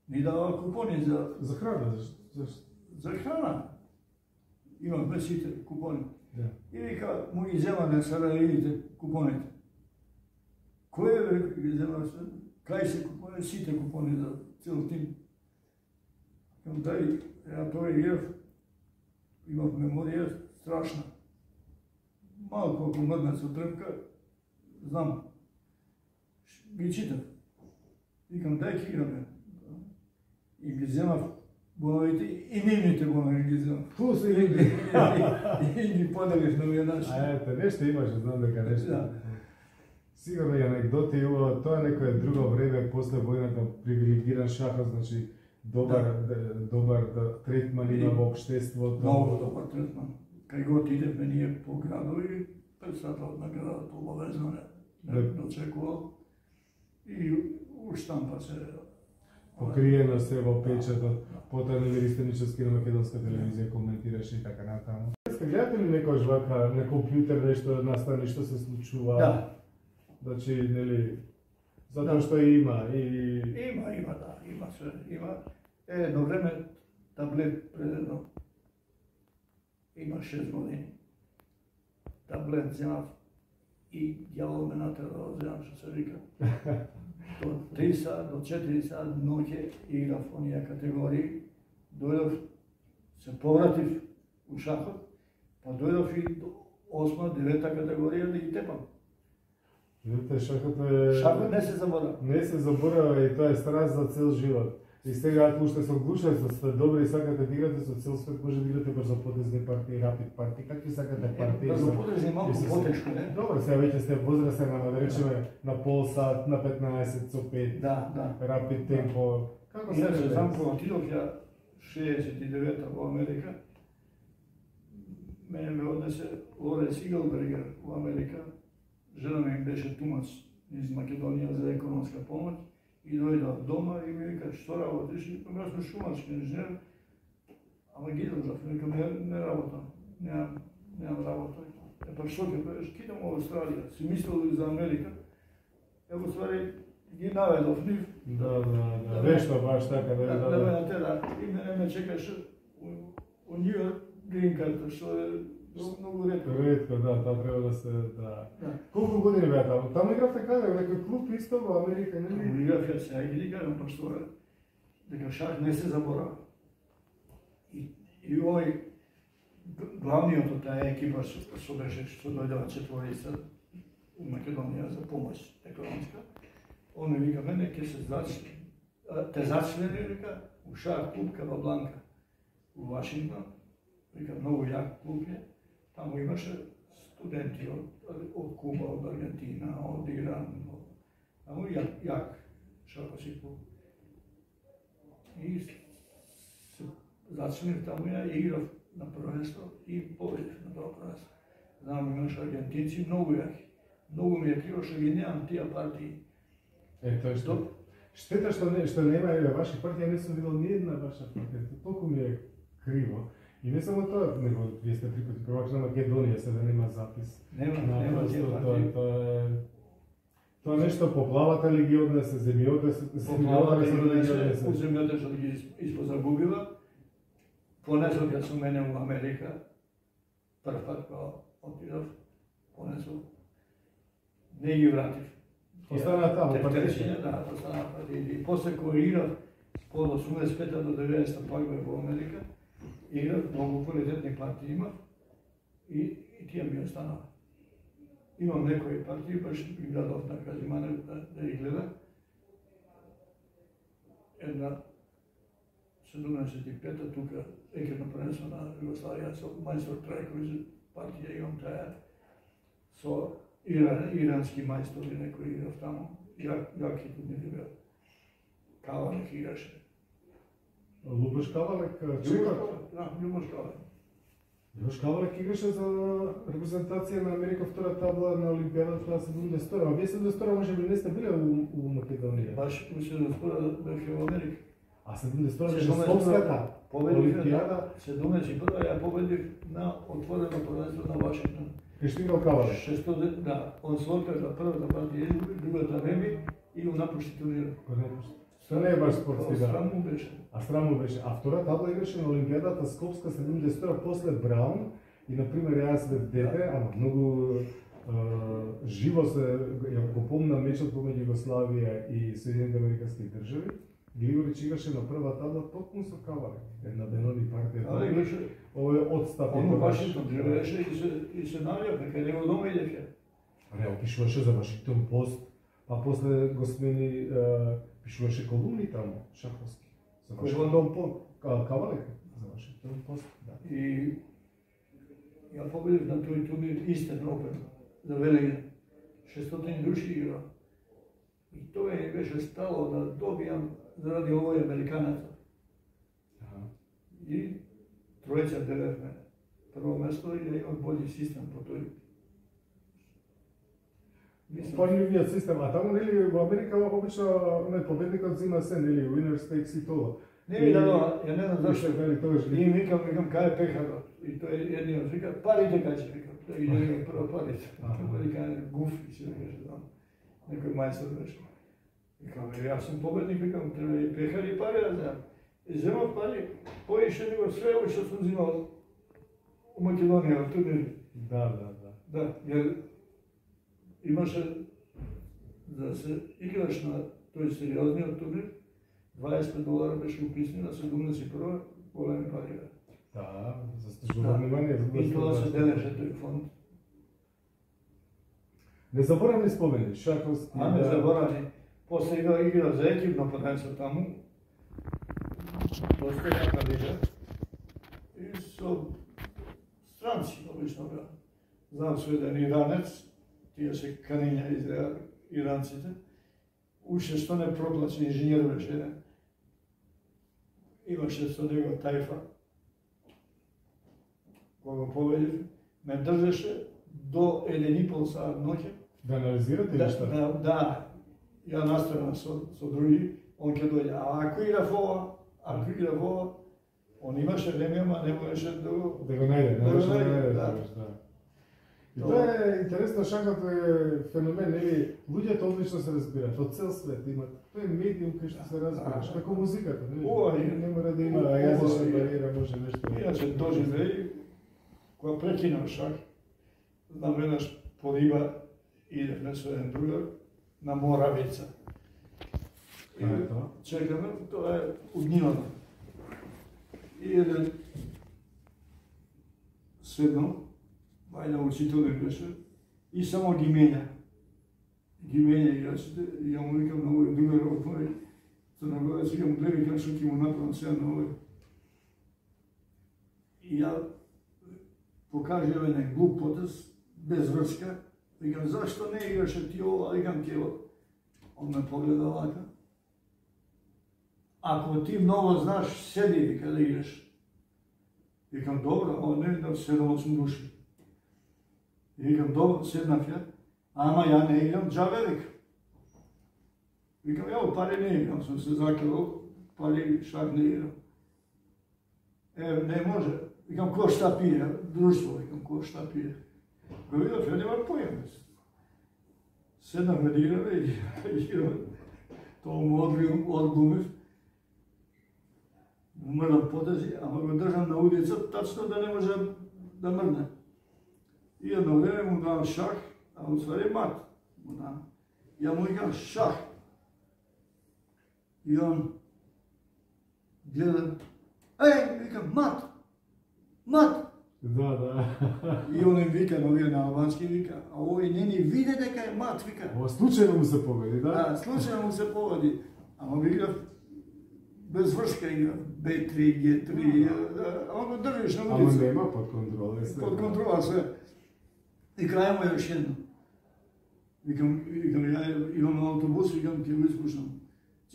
Ни дава купони за храна, за храна. Имаме сите купони. Да. И вика, му ги зема на сараливите купоните. Кој ги зема? Кај се купони? Сите купони за цел тим. Кам тај, ја тоа играв, имав меморија страшна. Малко ако мрдна со трпка, знам, ги читам. Викам, дај ки играме. И ги земав боновите, и нивните бонови ги земав. Плюс и ги поделив на веднаш. Ето, нешто имаше, знам дека нешто. Сигурно и анекдоти, тоа е некое друго време, после војната, привилегиран шахот, значи, добар третман има во општеството. Много добар третман. Кај го отидевме ние по градови, председателот на градот обавезно не дочекувал и у штампа се покриено се во печатот, потоа Ливеристеничевски на македонска телевизија коментираше и така натаму. Гледате ли некојаш вака на компјутер нешто настани што се случува? Да. Значи, нели, затоа што има и... Има се, има. Едно време таблет предедно има 6 години. Таблет земав и дјавол ме натера да земам, што се вика. До 3 сат, до 4 сат ноќе играв онија категории. Дојдов, се повратив у шахот, па дојдов и до 8-9 категорија да ги тепам. Видите, шахот е... Шахот не се заборава. Не се заборава и тоа е страст за цел живот. И сега ако уште со глушајство сте добри и сакате да играте со цел свет, може да играте брзопотезни партии, рапид партии, какви сакате партии? Брзопотезни малку потешко, не? Добро, сега веќе сте возрастен, да речеме на пол сат, на 15 со 5. Да. Рапид темпо. Како се рече? Знам кога отидов ја 69-та во Америка. Мене ме однесе Лоренс Иглбергер во Америка. Жена ми беше тумац из Македонија за економска помош. И дојдов дома и ми вика, што работиш? Јас сум шумарски инженер, ама ги држав, ми вика, не работам, немам работа. Па што ќе правиш? Кидам во Австралија, си мислел за Америка, ево ствари ги наведов нив. Да, вешто баш така, да. И мене ме чекаше у Нью Йорк грин карта, што е многу ретко. Ретко, да, таа треба да се, да. Колку години беа таму? Таму игравте каде? Во некој клуб исто во Америка, нели? Играв ја сега ги кажам, пошто дека шах не се заборава. И овој главниот од таа екипа што беше, што дојдева четворица у Македонија за помош економска, он ми вика, мене ќе се зачни, те зачлени, вика, у шах клуб Кабабланка у Вашингтон, вика, многу јак клуб е. Таму имаше студенти од Куба, од Аргентина, од Иран, таму јак шаховски клуб. И се зачнев таму, ја играв на првенство и победив на тоа првенство. Знам, имаше аргентинци многу јаки. Многу ми ја криво што ги немам тие партии. Тоа што штета што нема ваши партии, не сум видел ни една ваша партија. Толку ми е криво. И не само тоа, него вие сте 3 пати првак на Македонија, сега нема запис. Нема тие партии. Тоа нешто поплавата ли ги однесе, земјата се однесе, земјата што ги испозагубила. Понесов ја со мене у Америка, прв пат кога отидов, понесов. Не ги вратив. Остана таму, партија? Да, остана партија. И после кога играв, од 85 до 90 пак бев во Америка, играв, многу квалитетни партии имав и тие ми останаа. Имам некои партии, баш ги градов на Казимане да ги гледам. Една 75-та тука екипно првенство на Југославија со мајстор Трајковиќ партија имам таа со ирански мајстори некои играв таму. Јаки турнири беа. Кавалек играше. Лубош Кавалек, чекор? Да, Лубош Кавалек. Лубош Кавалек играше за репрезентација на Америка втора табла на Олимпијадата на 72. А вие 72 може би не сте биле у Македонија? Баш у 72 бев во Америка. А 72 беше Скопската Олимпијада? 71 ја победив на отворено првенство на Вашингтон. Кај што играл Кавалек? Да, он се откажа првата партија, другата неми и го напушти турнирот. Тоа не е баш спортски, да. Сраму беше. Сраму беше. А втора табла играше на Олимпијадата Скопска 72 после Браун и, например, јас бев дете, ама многу живо се ја го помнам мечот помеѓу Југославија и Соединените американски држави. Григорич играше на прва табла токму со Кавалек. Една Бенови партија. Да, играше. Овој одстап. Он во Вашингтон живееше и се навија, кај него дома идеше. Не, пишуваше за Вашингтон Пост, па после го смени, пишуваше колумни таму, шаховски. За Вашингтон Пост, Кавалек за Вашингтон Пост, да. И ја победив на тој турнир Истен Опен за Велиген. 600 души игра. И тоа ми беше стало да добијам заради овој американецот. И тројца делевме прво место и да имам бољи систем по тој. Поњивниот систем, а таму нели во Америка обично победникот зима се, нели winners takes it all. Не ми дадоа, ја не знам зашто. И викам кај е пехарот. И тој едниот вика, парите кај ќе викам. И ја викам прво парите. Американец гуфи се викаше там. Некој мајстор беше. Викам, јас сум победник, викам, треба и пехар и пари да земам. И земав пари, поише него све ово што сум земал у Македонија, во турнири. Да, јер имаше да се играш на тој сериозниот турнир, $25 беше уписни на 71 големи пари. Да, заслужува внимание. И тоа се делеше тој фонд. Незаборавни спомени, шаховски. Не заборавни. После игра за екипно првенство таму. доста јака лига. И со странци, обично беа. Знам со еден иранец, тие се канења иранците, уште што не проплачи, инженер беше, имаше со него тајфа, кога победив, ме држеше до 1,5 саат ноќе. Да анализирате или што? Да, ја наставам со други, он ќе дојде, а ако игра во ова, он имаше време, ама не можеше да го најде, да. И тоа е интересно, шахот е феномен, нели, луѓето одлично се разбираат, од цел свет имат. Тој е медиум кај што се разбираш, како музиката, нели? Не мора да има јазична бариера, може нешто. Иначе доживеј, кога прекинав шах, знам веднаш по риба идевме со еден другар на Моравица. И чекаме, тоа е од нивата. И еден седнал, вајда учителен беше, и само ги менја. Ги менја играчите, и ја му викам на овој другар од мој Црногорец, викам, гледај како што ќе му направам сега на овој. И ја покажав еден глуп потез, без врска, викам, зашто не играше ти ова, викам, ке он ме погледа вака. Ако ти многу знаш, седи, вика, да играш. Викам, добро, он не видам 7-8 души. И викам, добро, седнав ја, ама ја не играм джабе, вика. Викам, ја пари не играм, сум се закрил, пари шак не играм. Не може. Викам, ко шта пие, друштво, викам, ко шта пие. Го видав, ја нема појам. Седнав да играме и играме. Тоа му одглумив. Умрнав потези, ама го држам на улица, тачно да не може да мрне. И едно време му давам шах, а у ствари мат му давам. Ја му викам шах. И он гледа, викам, мат. Да. И он им вика, новија на албански вика, а овој не ни виде дека е мат, вика. Ова случајно му се поведи, да? Да, случајно му се поведи. Ама би играв без врска играв, B3, G3, ама го држиш на улица. Ама нема под контрола, е Под контрола се. И крај му е još едно. Викам, ја имам автобус, викам, ќе го испушнам.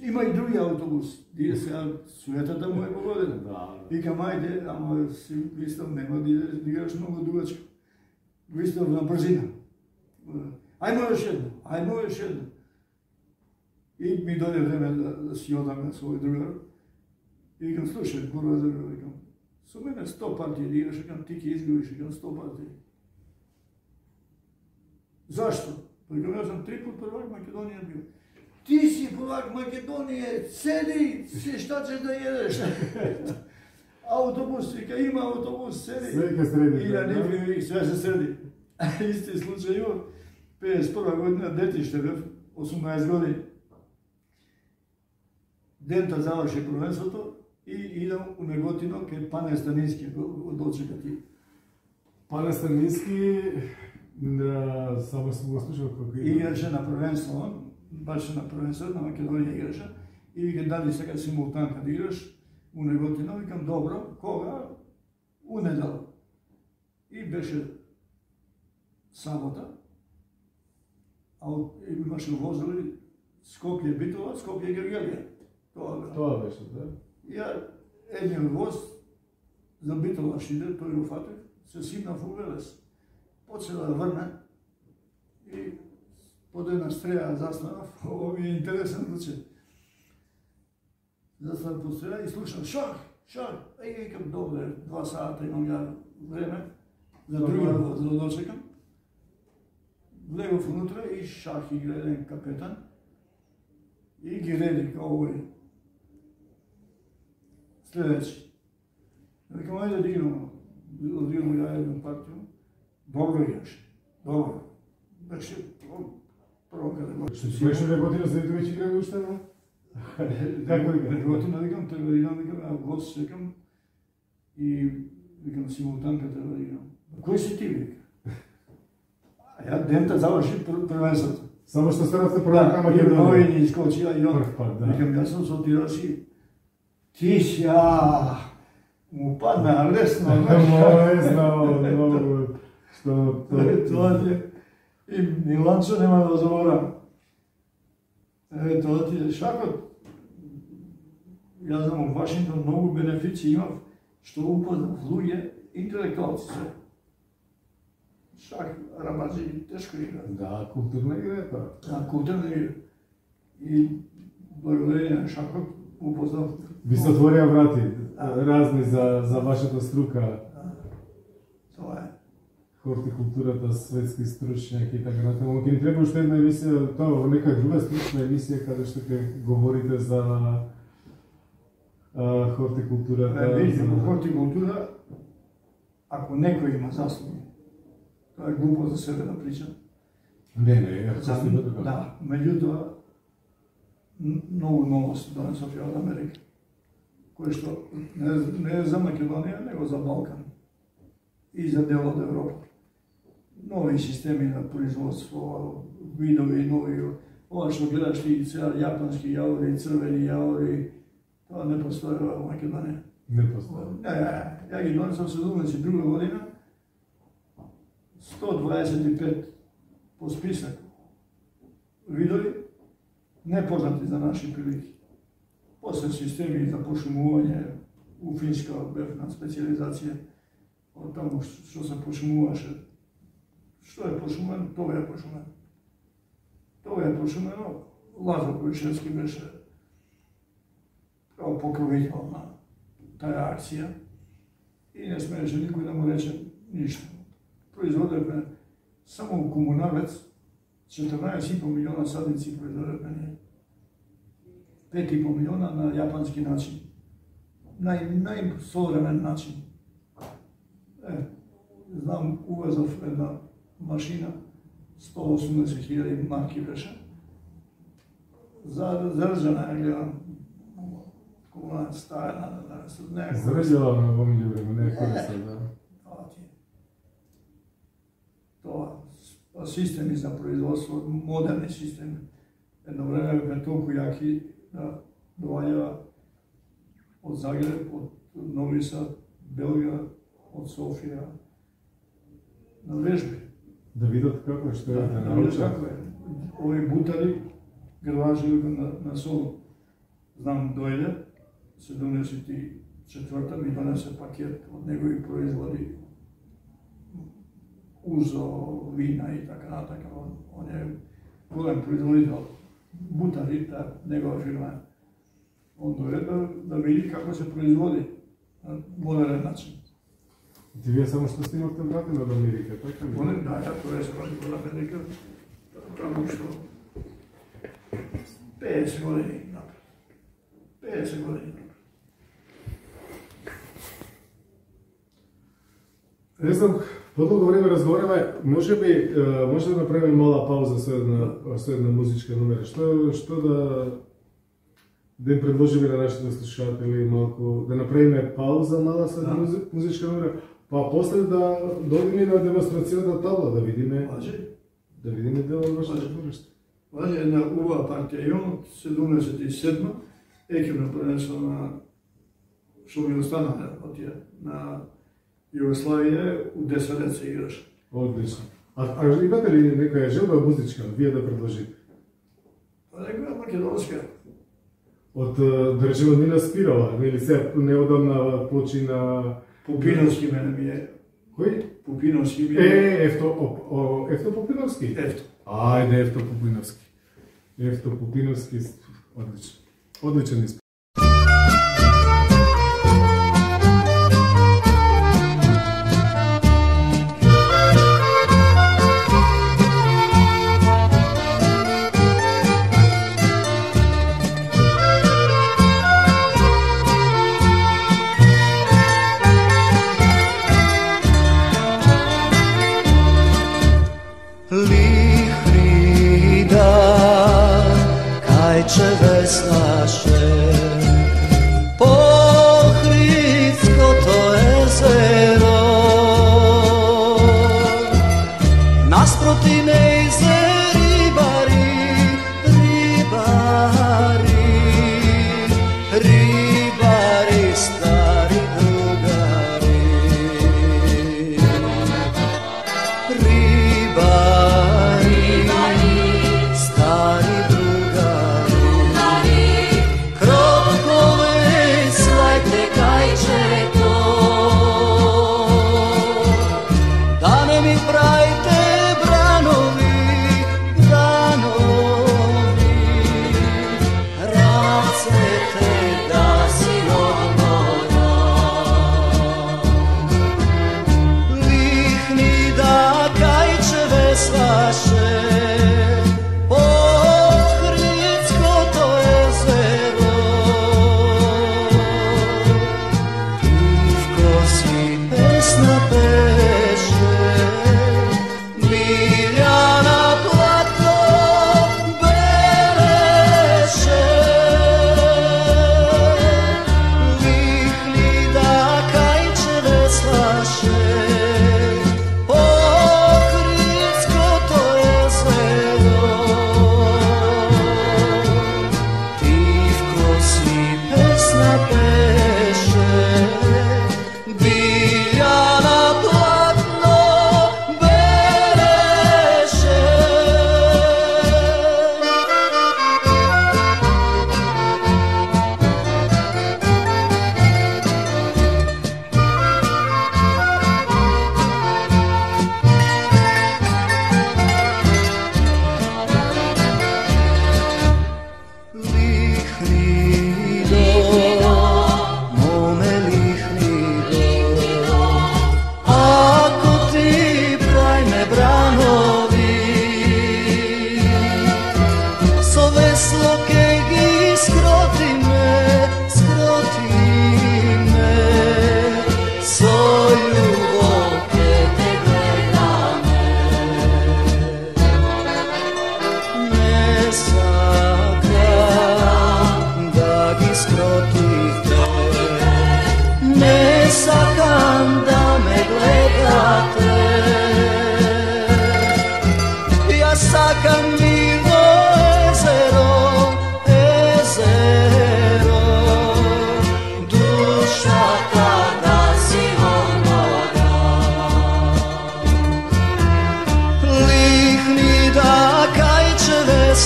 Има и други автобус, тие сега суетата му е погодена. Викам, ајде, ама си вистав, нема да играш многу дугачко. Вистав на брзина. Ајмо još едно. И ми дојде време да си одам со овој другар. И викам, слушај, курва другар, викам, со мене 100 партии да играш, викам, ти ќе изгубиш, викам, 100 партии. Зашто? Викам, јас сум 3 пат првак Македонија бил. Ти си prvak Makedonije, sedi, šta ćeš da jedeš? Autobus, vika, ima autobus, sedi. Sve ka sredi. I ja nikad sve se sredi. Isti slučaj imao, 51. godina, detište, 18 godina. Denta završi prvenството и идам у Неготино, кај Пане Станински го дочекати. Пане Станински, само сум го слушал како играше на првенство, баш на првенство, на Македонија играше, и вика, дали сега симултанка да играш у Неготино, викам, добро, кога? У недела. И беше сабота, а имаше возили Скопје Битола, Скопје Гергелија. Тоа беше, да. Ја едниот воз за Битола шиде, тој го фатив, се симнав у Велес. Почела да врне и под една стреја застанав, ово ми е интересен случај. Застанав под стреја и слушам шах, викам, добре, 2 сата имам ја време за другиот воз да дочекам. Влегов внутре и шах игра еден капетан и ги реди као овој следеќи. Викам, ајде да играм, одиграм ја едну партiju. Добро играше, добро. Беше прво каде го... Што беше Неготино, след веќе играме уште, да? Како игра? Неготино, викам, треба да играм, а гост чекам и викам, симултанка треба да играм. Кој си ти, вика? А ја дента заврши првенството. Само што станавте првак на Македонија. Овој ни искочи, а и он. Прв пат, да. Викам, јас сум со тираши. Ти си, му падна лесно. Не знao mnogo što Тоа ти и Миланчо нема да заборам. Тоа ти е шакот. Јас знам, у Вашингтон многу бенефици имав, што упознав луѓе, интелектуалци се. Шак, рабаджи, тешко игра. Da, kulturna igra je to. Да, културна игра. И благодарение на шакот упознав. Ви се отворија врати разни за вашата струка. Тоа е. Хортикултурата, светски стручњаки и така натаму. Ќе ни треба уште една емисија, тоа во некоја друга стручна емисија каде што ќе говорите за хортикултурата. Видите, во хортикултура, ако некој има заслуги, тоа е глупо за себе да причам. Не, Да, меѓутоа, многу новост донесов од Америка, кој што не е за Македонија, него за Балкан и за дел од Европа. Нови системи на производство, видови, нови, ова што гледаш ти сега јапански јаори, црвени јаори, тоа не постои во Македонија. Не постои. Ја ги донесов 72 година, 125 по список видови, непознати за наши прилики. После системи за пошумување, у Финска бев на специализација, од таму што се пошумуваше. Што е пошумено? Тоа е пошумено. Тоа е пошумено. Лазар Којшевски беше као покровител на таа акција и не смееше никој да му рече ништо. Производевме само у Комунавец 14,5 милиона садници производевме ние. 5,5 милиона на јапански начин. Најсовремен начин. Знам, увезов една машина, 180.000 марки беше. Заржана ја гледам, кога стајна, Заржала на помилју време, не користа, да. Тоа системи за производство, модерни системи. Едно време бе толку јаки да доаѓа од Загреб, од Нови Сад, Белгија, од Софија, на вежби. Да видат како што е, да научат како е. Овие бутари, грлажи на сол. Знам, дојде, 74-та ми донесе пакет од негови производи, узо, вина и така натака. Он е голем производител. Бутари, негова фирма. Он дојде да види како се производи на модерен начин. Ти вие само што снимавте вратено од Америка, така ли? Да, тоа е се вради од Америка, таму што 50 години напред. 50 години напред. Не знам, подолго време разговараме, може да направиме мала пауза со една музичка номера. Што да им предложиме на нашите слушатели малку, да направиме пауза мала со една музичка номера, па после да дојдеме на демонстрацијата табла, да видиме дел од вашето твориште. Важи една убава партија имам, 77-ма, екипно пренесено што ми остана од тие, на Југославија, у 10 лет се играш. Одлично. А имате ли некоја желба музичка, вие да предложите? Некоја македонска. Од, да речеме, Нина Спирова, или се неодамна почина... Пупиновски мене ми е. Кој? Пупиновски ми е. Ефто Пупиновски? Ефто. Ајде, Ефто Пупиновски. Ефто Пупиновски, одлично. Одличен испит. Ribari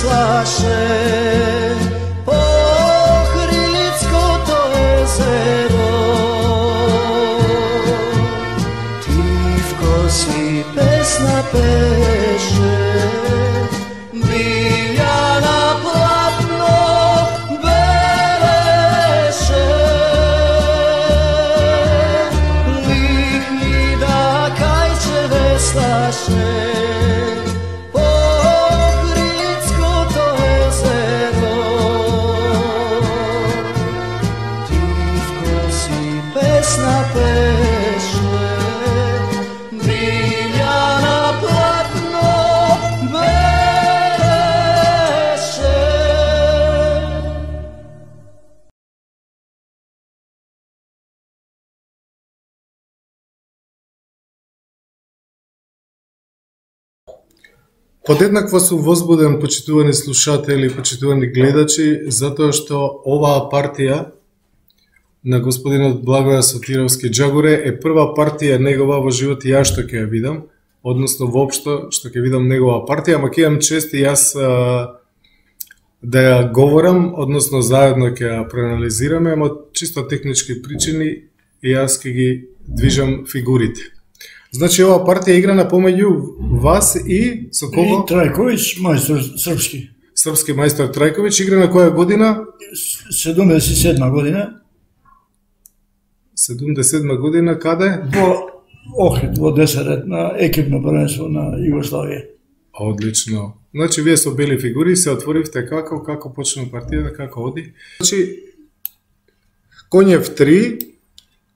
veslaše po Ohridsko jezero. Tivko si pesna peše, Biljana platno bereše. Lihni da kajče veslaše po Ohridsko jezero. Tivko si pesna peše, Biljana platno bereše. Подеднакво сум возбуден, почитувани слушатели, почитувани гледачи, затоа што оваа партија на господинот Благоја Сотировски Џагуре е прва партија негова во живот јас што ќе ја видам, односно воопшто што ќе видам негова партија, ама ќе имам чест и јас да ја говорам, односно заедно ќе ја проанализираме, ама чисто технички причини и јас ќе ги движам фигурите. Значи ова партија играна помеѓу вас и со кого? И Трајковиќ, мајстор српски. Српски мајстор Трајковиќ игра на која година? 77 година. 77 година, каде? Во Охрид, во Десарет, на екипно првенство на Југославија. Одлично. Значи, вие со бели фигури се отворивте како почна партијата, како оди. Значи, Конјев 3,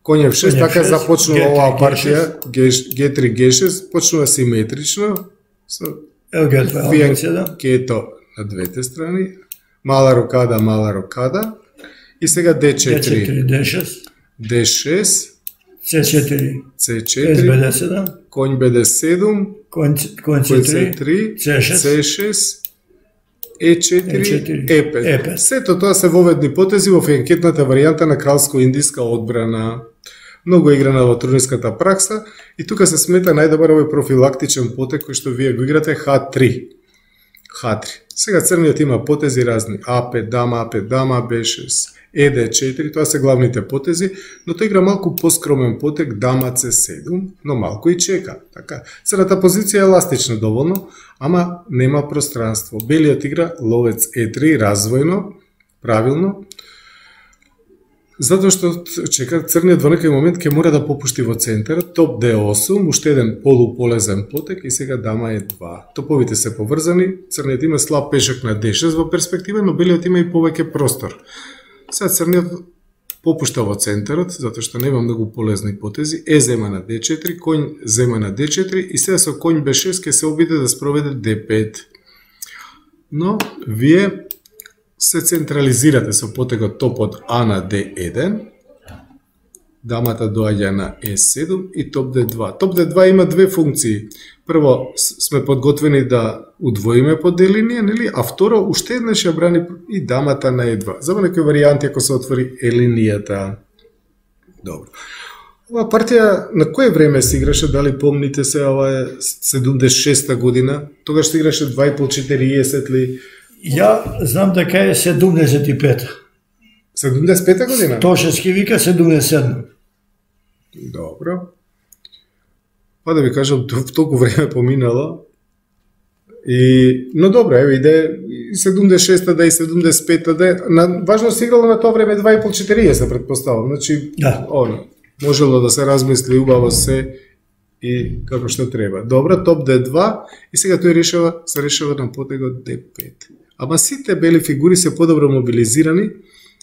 Конјев 6, така започнува оваа партија, Г3, Г6, почнува симетрично, со Кето на двете страни, мала рокада, и сега D4, D6, D6, C4, C4, SBD7, конј BD7, конј C3, C6, E4, E5. Сето тоа се воведни потези во фенкетната варијанта на кралско-индиска одбрана. Многу играна во турнирската пракса и тука се смета најдобар овој профилактичен потек кој што вие го играте H3. Сега црниот има потези разни: A5 дама, B6, ED4, тоа се главните потези, но тој игра малку поскромен потек дама C7, но малку и чека. Така, црната позиција е еластична доволно, ама нема пространство. Белиот игра ловец E3 развојно, правилно, затоа што чека црниот во некој момент ќе мора да попушти во центарот, топ D8, уште еден полуполезен потек и сега дама E2. Топовите се поврзани, црниот има слаб пешак на D6 во перспектива, но белиот има и повеќе простор. Сега црниот попушта во центарот, затоа што нема многу полезни потези, зема на D4, конј зема на D4 и сега со конј B6 ќе се обиде да спроведе D5. Но вие се централизирате со потегот топ од А на D1, дамата доаѓа на E7 и топ D2. Топ D2 има две функции. Прво, сме подготвени да удвоиме по D-линија, нели? А второ, уште еднаш ја брани и дамата на E2. За некои варијанти ако се отвори E-линијата. Добро. Ова партија на кое време се играше, дали помните се, ова е 76-та година, тогаш се играше 2,5-40 ли? Ја знам дека е 75-та. 75-та година? Тошевски вика 77. Добро. Па да ви кажам, толку време поминало. Но добро, еве иде и 76-та да и 75-та да. Важно се играло на тоа време 2,5-40, предпоставам. Значи, да. Можело да се размисли убаво се и како што треба. Добро, топ D2 и сега тој се решава на потегот D5. Ама сите бели фигури се подобро мобилизирани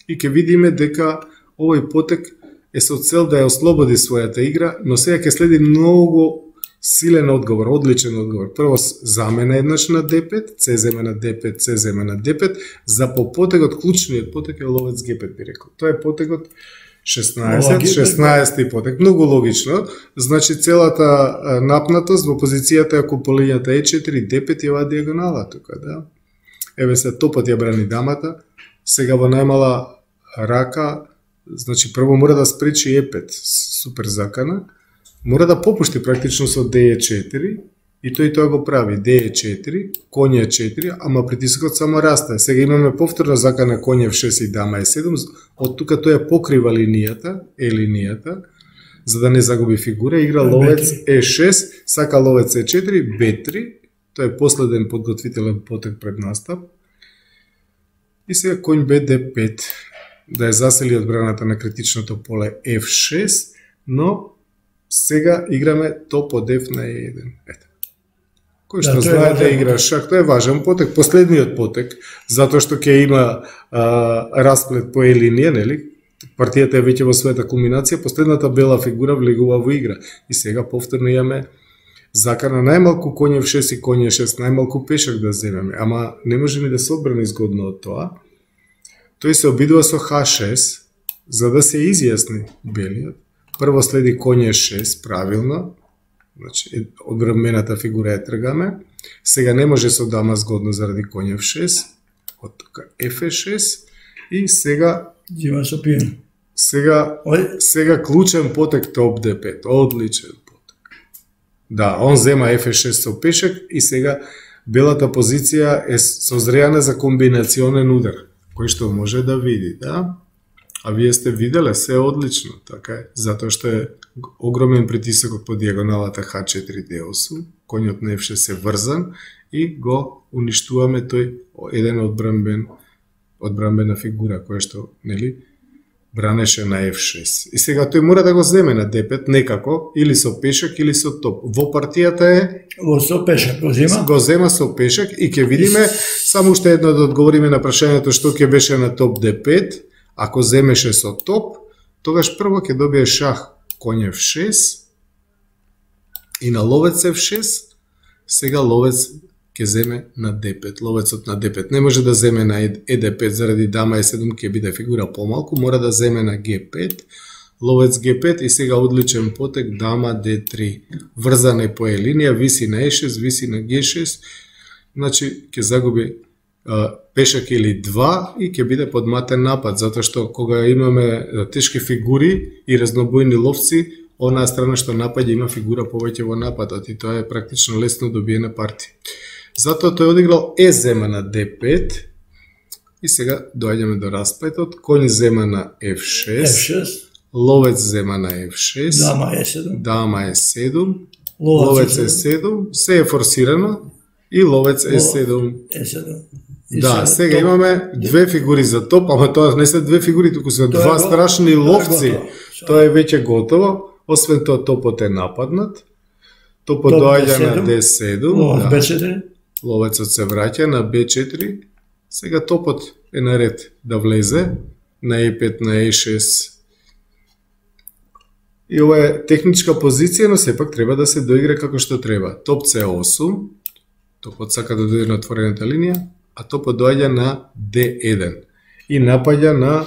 и ќе видиме дека овој потек е со цел да ја ослободи својата игра, но сега ќе следи многу силен одговор, одличен одговор. Прво замена еднаш на D5, C зема на D5, C зема на D5, за по потегот, клучниот потек е ловец G5 би рекол. Тоа е потегот 16 потек. Многу логично. Значи целата напнатост во позицијата ако по линијата E4, D5 е оваа диагонала тука, да. Еве се топот ја брани дамата. Сега во најмала рака, значи прво мора да спречи E5, супер закана. Мора да попушти практично со D4 И тој тоа го прави. D е 4, конј е 4, ама притисокот само расте. Сега имаме повторно закана конј F6 и дама е 7, од тука тој покрива линијата, линијата, за да не загуби фигура, игра ловец E6, сака ловец E4, B3, тоа е последен подготвителен потек пред настап. И сега конј Б D5, да ја засели одбраната на критичното поле F6, но сега играме топ од F на E1. Ето. Кој што знае да игра шах, тоа е важен потек, последниот потек, затоа што ќе има расплет по E линија, нели? Партијата е веќе во својата кулминација, последната бела фигура влегува во игра. И сега повторно имаме закана најмалку конј F6 и конј E6, најмалку пешак да земеме, ама не може ни да се одбрани згодно од тоа. Тој се обидува со H6, за да се изјасни белиот. Прво следи конј E6, правилно, значи одбранената фигура ја тргаме. Сега не може со дама згодно заради конј F6, од тука F6 и сега Дима со пиен. Сега клучен потек топ D5, одличен потек. Да, он зема F6 со пешак и сега белата позиција е созреана за комбинационен удар, кој што може да види, да? А вие сте виделе, се одлично, така е, затоа што е огромен притисокот по диагоналата H4 D8, конјот на F6 е врзан и го уништуваме тој еден одбранбена фигура која што, нели, бранеше на F6. И сега тој мора да го земе на D5 некако, или со пешак, или со топ. Во партијата е со пешак го зема. Го зема со пешак и ќе видиме само уште едно да одговориме на прашањето што ќе беше на топ D5. Ако земеше со топ, тогаш прво ќе добие шах конј F6 и на ловец F6, сега ловец ќе земе на D5. Ловецот на D5 не може да земе на ED5 заради дама E7 ќе биде фигура помалку, мора да земе на G5, ловец G5 и сега одличен потек дама D3. Врзан е по E линија, виси на E6, виси на G6, значи ќе загуби пешак или 2 и ќе биде подматен напад, затоа што кога имаме тешки фигури и разнобојни ловци, онаа страна што напаѓа има фигура повеќе во нападот и тоа е практично лесно добиена партија. Затоа тој одиграл Е зема на D5 и сега доаѓаме до расплетот, конј зема на F6, ловец зема на F6, дама E7, ловец E7, се е форсирано и ловец E7. Да, сега имаме две фигури за топ, ама тоа не се две фигури, туку се два страшни ловци. Тоа е веќе готово. Освен тоа, топот е нападнат. Топот доаѓа на D7. Ловецот се враќа на B4. Сега топот е наред да влезе на E5, на E6. И ова е техничка позиција, но сепак треба да се доигра како што треба. Топ C8. Топот сака да дојде на отворената линија, а топот доаѓа на D1 и напаѓа на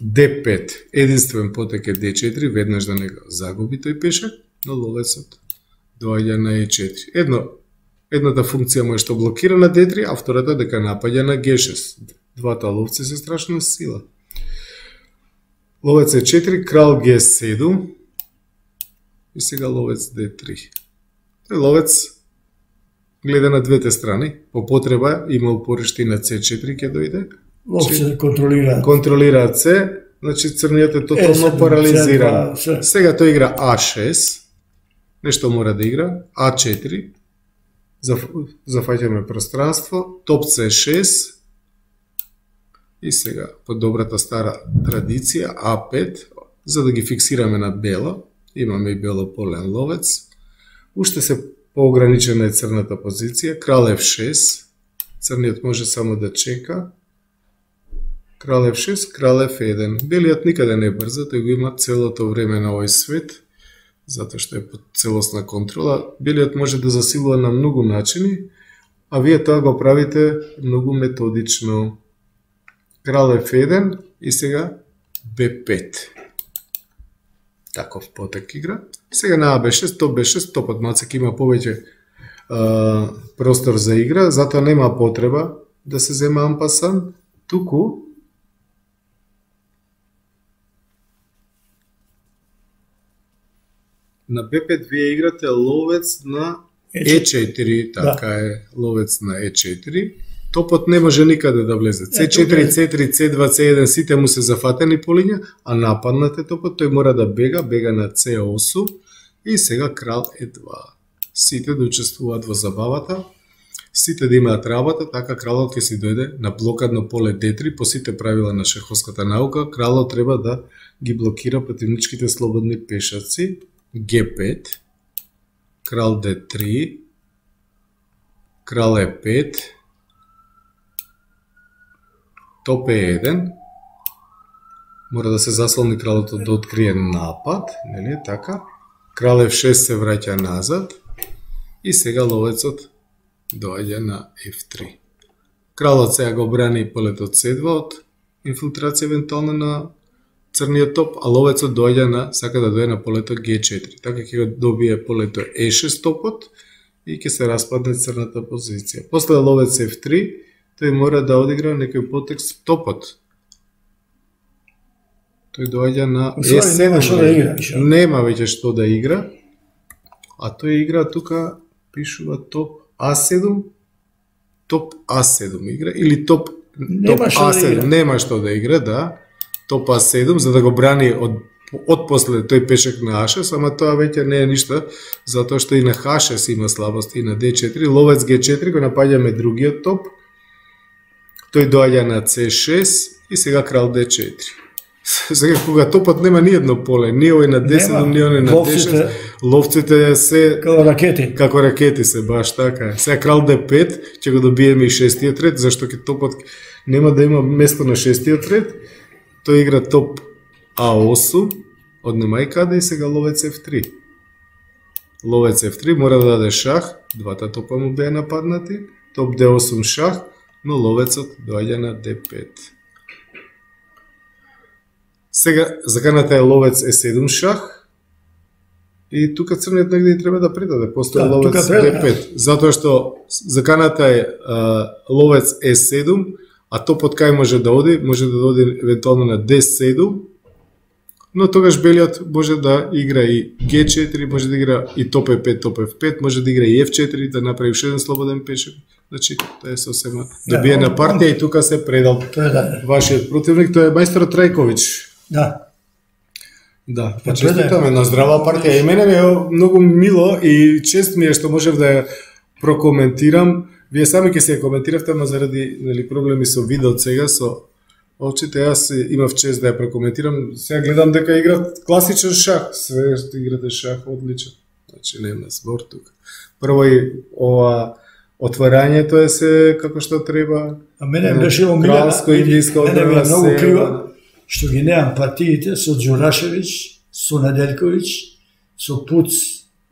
D5. Единствен потек е D4, веднаш да не го загуби тој пешак, но ловецот доаѓа на E4. Едната функција му е што блокира на D3, а втората дека напаѓа на G6. Двата ловци се страшна сила. Ловец E4, крал G7 и сега ловец D3. Тој ловец гледа на двете страни, по потреба има упориште и на C4 ќе дојде. Ловци контролираат C, значи црниот е тотално парализиран. Сега тој игра A6, нешто мора да игра, A4, зафаќаме пространство, топ C6 и сега по добрата стара традиција A5, за да ги фиксираме на бело, имаме и бело полен ловец, уште се поограничена е црната позиција, крал F6, црниот може само да чека, крал F6, крал F1. Белиот никаде не брза, тој го има целото време на овој свет, затоа што е под целосна контрола. Белиот може да засилува на многу начини, а вие тоа го правите многу методично. Крал F1 и сега B5. Таков потек игра. Сега на AB6, топ B6, топот мацак има повеќе простор за игра, затоа нема потреба да се зема ампасан, туку на B5 вие играте ловец на E4, така е, ловец на E4. Топот не може никаде да влезе. C4, C3, C2, C1, сите му се зафатени по линија, а нападнате топот, тој мора да бега на C8 и сега крал E2. Сите да учествуваат во забавата, сите да имаат работа, така кралот ќе си дојде на блокадно поле D3, по сите правила на шаховската наука, кралот треба да ги блокира противничките слободни пешаци, G5, крал D3, крал E5, топ E1, мора да се заслони кралото да открие напад, нели така? Крал F6 се враќа назад и сега ловецот доаѓа на F3. Кралот сега го брани полето C2 од инфилтрација евентуално на црниот топ, а ловецот сака да дојде на полето G4. Така ќе го добие полето E6 топот и ќе се распадне црната позиција. После ловец F3, тој мора да одигра некој потекст топот. Тој доаѓа на E7. Нема веќе што да игра. А тој игра тука, пишува топ A7, топ A7 игра, или топ A7, нема што да игра, да. Топ A7, за да го брани од после тој пешек на A6, ама тоа веќе не е ништа, затоа што и на H6 има слабости, и на D4, ловец G4 го напаѓаме другиот топ, тој доаѓа на C6 и сега крал D4. Сега кога топот нема ни едно поле, ни овој на D7, ни оној на D6, ловците се како ракети се, баш така. Сега крал D5, ќе го добиеме и шестиот ред, зашто ќе топот нема да има место на шестиот ред. Тој игра топ A8, однема и каде, и сега ловец F3. Ловец F3 мора да даде шах, двата топа му беа нападнати, топ D8 шах, но ловецот доаѓа на D5. Сега заканата е ловец E7 шах и тука црниот негде треба да предаде, постоја ловец D5, затоа што заканата е ловец E7, а топот кај може да оди евентуално на D7, но тогаш белиот може да игра и G4, може да игра и топ E5, топ F5, може да игра и F4, да направи уште еден слободен пешек. Значи, тоа е сосема добиена партија и тука се предал вашиот противник, тоа е мајсторот Трајковиќ. Да, честитаме на здрава партија. И мене ми е многу мило и чест ми е што можев да ја прокоментирам. Вие сами ќе се ја коментиравте, ама заради проблеми со видеот сега, со очите, јас имав чест да ја прокоментирам. Сега гледам дека играт класичен шах. Све што играте шах, одличен. Значи, нема збор тука. Прво и ова отварањето е се како што треба. А мене беше омилена, мене ми е многу криво што ги немам партиите со Ѓурашевиќ, со Неделковиќ, со Пуц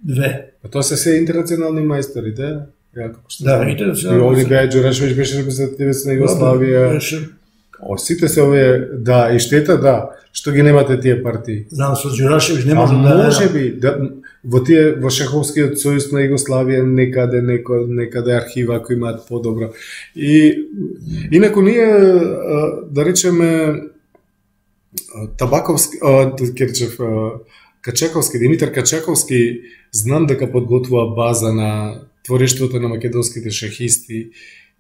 2. А тоа се интернационални мајстори, да? Да, интернационални. И овие беа Ѓурашевиќ беше репрезентативец на Југославија. Сите се овие, да, и штета, да, што ги немате тие партии. Знам, со Ѓурашевиќ не може да... Може би, во шаховскиот сојуз на Југославија некаде архива кои имаат подобро. И инаку ние, да речеме, Табаковски, Качаковски, Димитар Качаковски, знам дека подготвува база на творештвото на македонските шахисти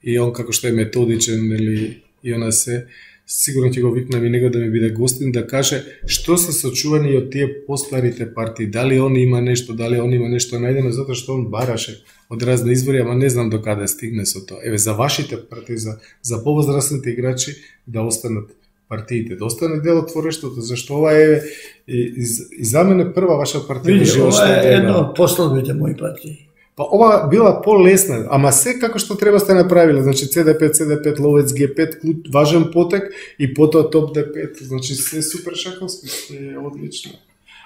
и он како што е методичен, нели, и она се, сигурно ќе го викнам и него да ми биде гостин, да каже што се сочувани од тие постарите партии, дали он има нешто најдено, затоа што он бараше од разни извори, ама не знам до каде стигне со тоа. Еве, за вашите партии, за повозрастните играчи да останат партиите, да остане дел од творештвото, зашто ова е и за мене прва ваша партија. Види, ова е едно од последните мои партии. Па ова била полесна, ама се како што треба сте направиле, значи CD5, ловец G5, важен потек и потоа топ D5, значи се супер шаховски, се е одлично.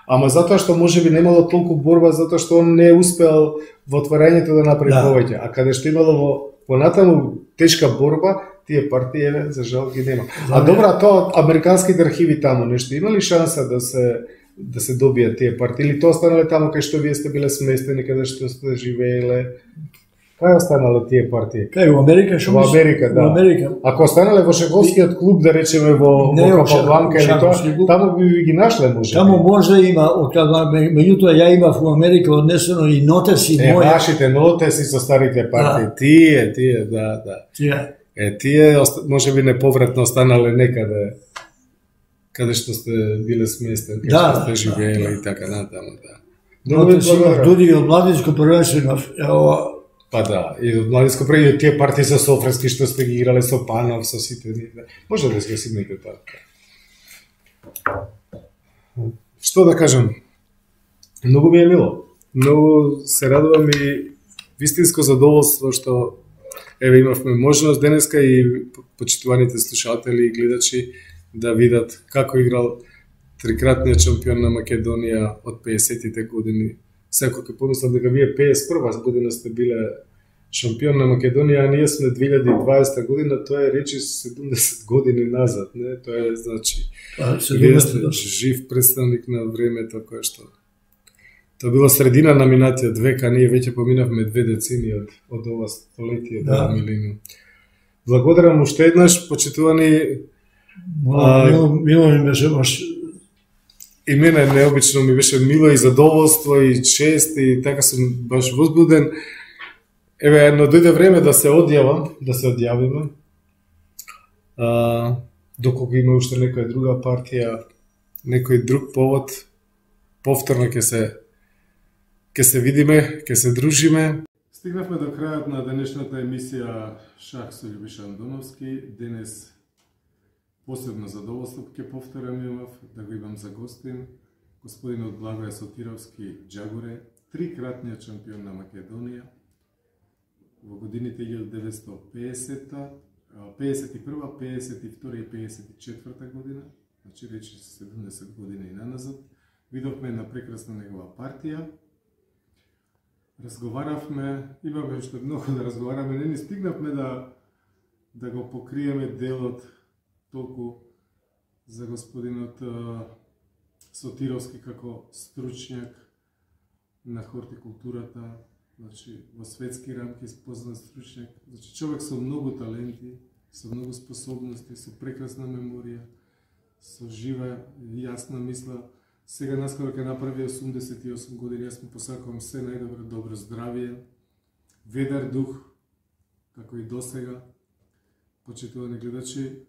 Ама затоа што можеби немало толку борба, затоа што он не успеал во отварањето да направи повеќе, а каде што имало во понатаму тешка борба, тие партии, за жал ги нема. А добра, тоа американските архиви таму нешто има ли шанса да се добијат тие партии, или тоа останале таму кај што вие сте биле сместени, каде што сте живееле? Кај останале тие партии? Кај во Америка што Во Америка, да. Во Америка. Ако останале во шаковскиот клуб, да речеме во Капабланка или тоа, таму би ги нашле може. Таму може има, меѓутоа ја имав во Америка однесено и нотеси мои. Вашите нотеси со старите партии, тие, да. Тие може би неповратно останале некаде каде што сте биле сместени, каде што сте живееле и така натаму, да. Нотеси имав дуди од младинско првенство имав, Па да, и од младинско преди тие партии со Софрески што сте ги играле со Панов, со сите ние. Може да се симнете така. Што да кажам? Многу ми е мило. Многу се радувам и вистинско задоволство што еве имавме можност денеска и почитуваните слушатели и гледачи да видат како играл трикратниот шампион на Македонија од 50-тите години. Секој ќе помислам дека вие 51 година сте биле шампион на Македонија, а ние сме 2020 година, тоа е речи 70 години назад, не? Тоа е, значи, вие сте жив представник на времето кое што... Тоа било средина на минатиот век, а ние веќе поминавме 2 децени од ова столетие, да, милениум. Благодарам уште еднаш, почитувани... Мило ми беше баш... И мене необично ми беше мило и задоволство и чест и така сум баш возбуден. Еве, но дојде време да се одјавиме. Доколку има уште некоја друга партија, некој друг повод, повторно ќе се видиме, ќе се дружиме. Стигнавме до крајот на денешната емисија Шах со Љубиша Андоновски. Денес посебно задоволство ќе повторам имав да го имам за гостин господинот Благоје Сотировски Џагуре, трикратниот шампион на Македонија во годините 1950, 51, 52 и 54 година, значи речи 70 години и наназад. Видовме една прекрасна негова партија. Разговаравме, имаме уште многу да разговараме, не ни стигнавме да го покриеме делот толку за господинот Сотировски како стручњак на хортикултурата, значи во светски рамки познат стручњак, значи човек со многу таленти, со многу способности, со прекрасна меморија, со жива и јасна мисла. Сега наскоро ќе направи 88 години, јас му посакувам се најдобро, добро здравје, ведар дух, како и досега. Почитувани гледачи,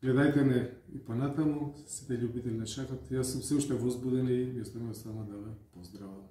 гледајте не и понатаму, сите љубители на шахот. Јас сум се уште возбуден и ви оставам само да ве поздравам.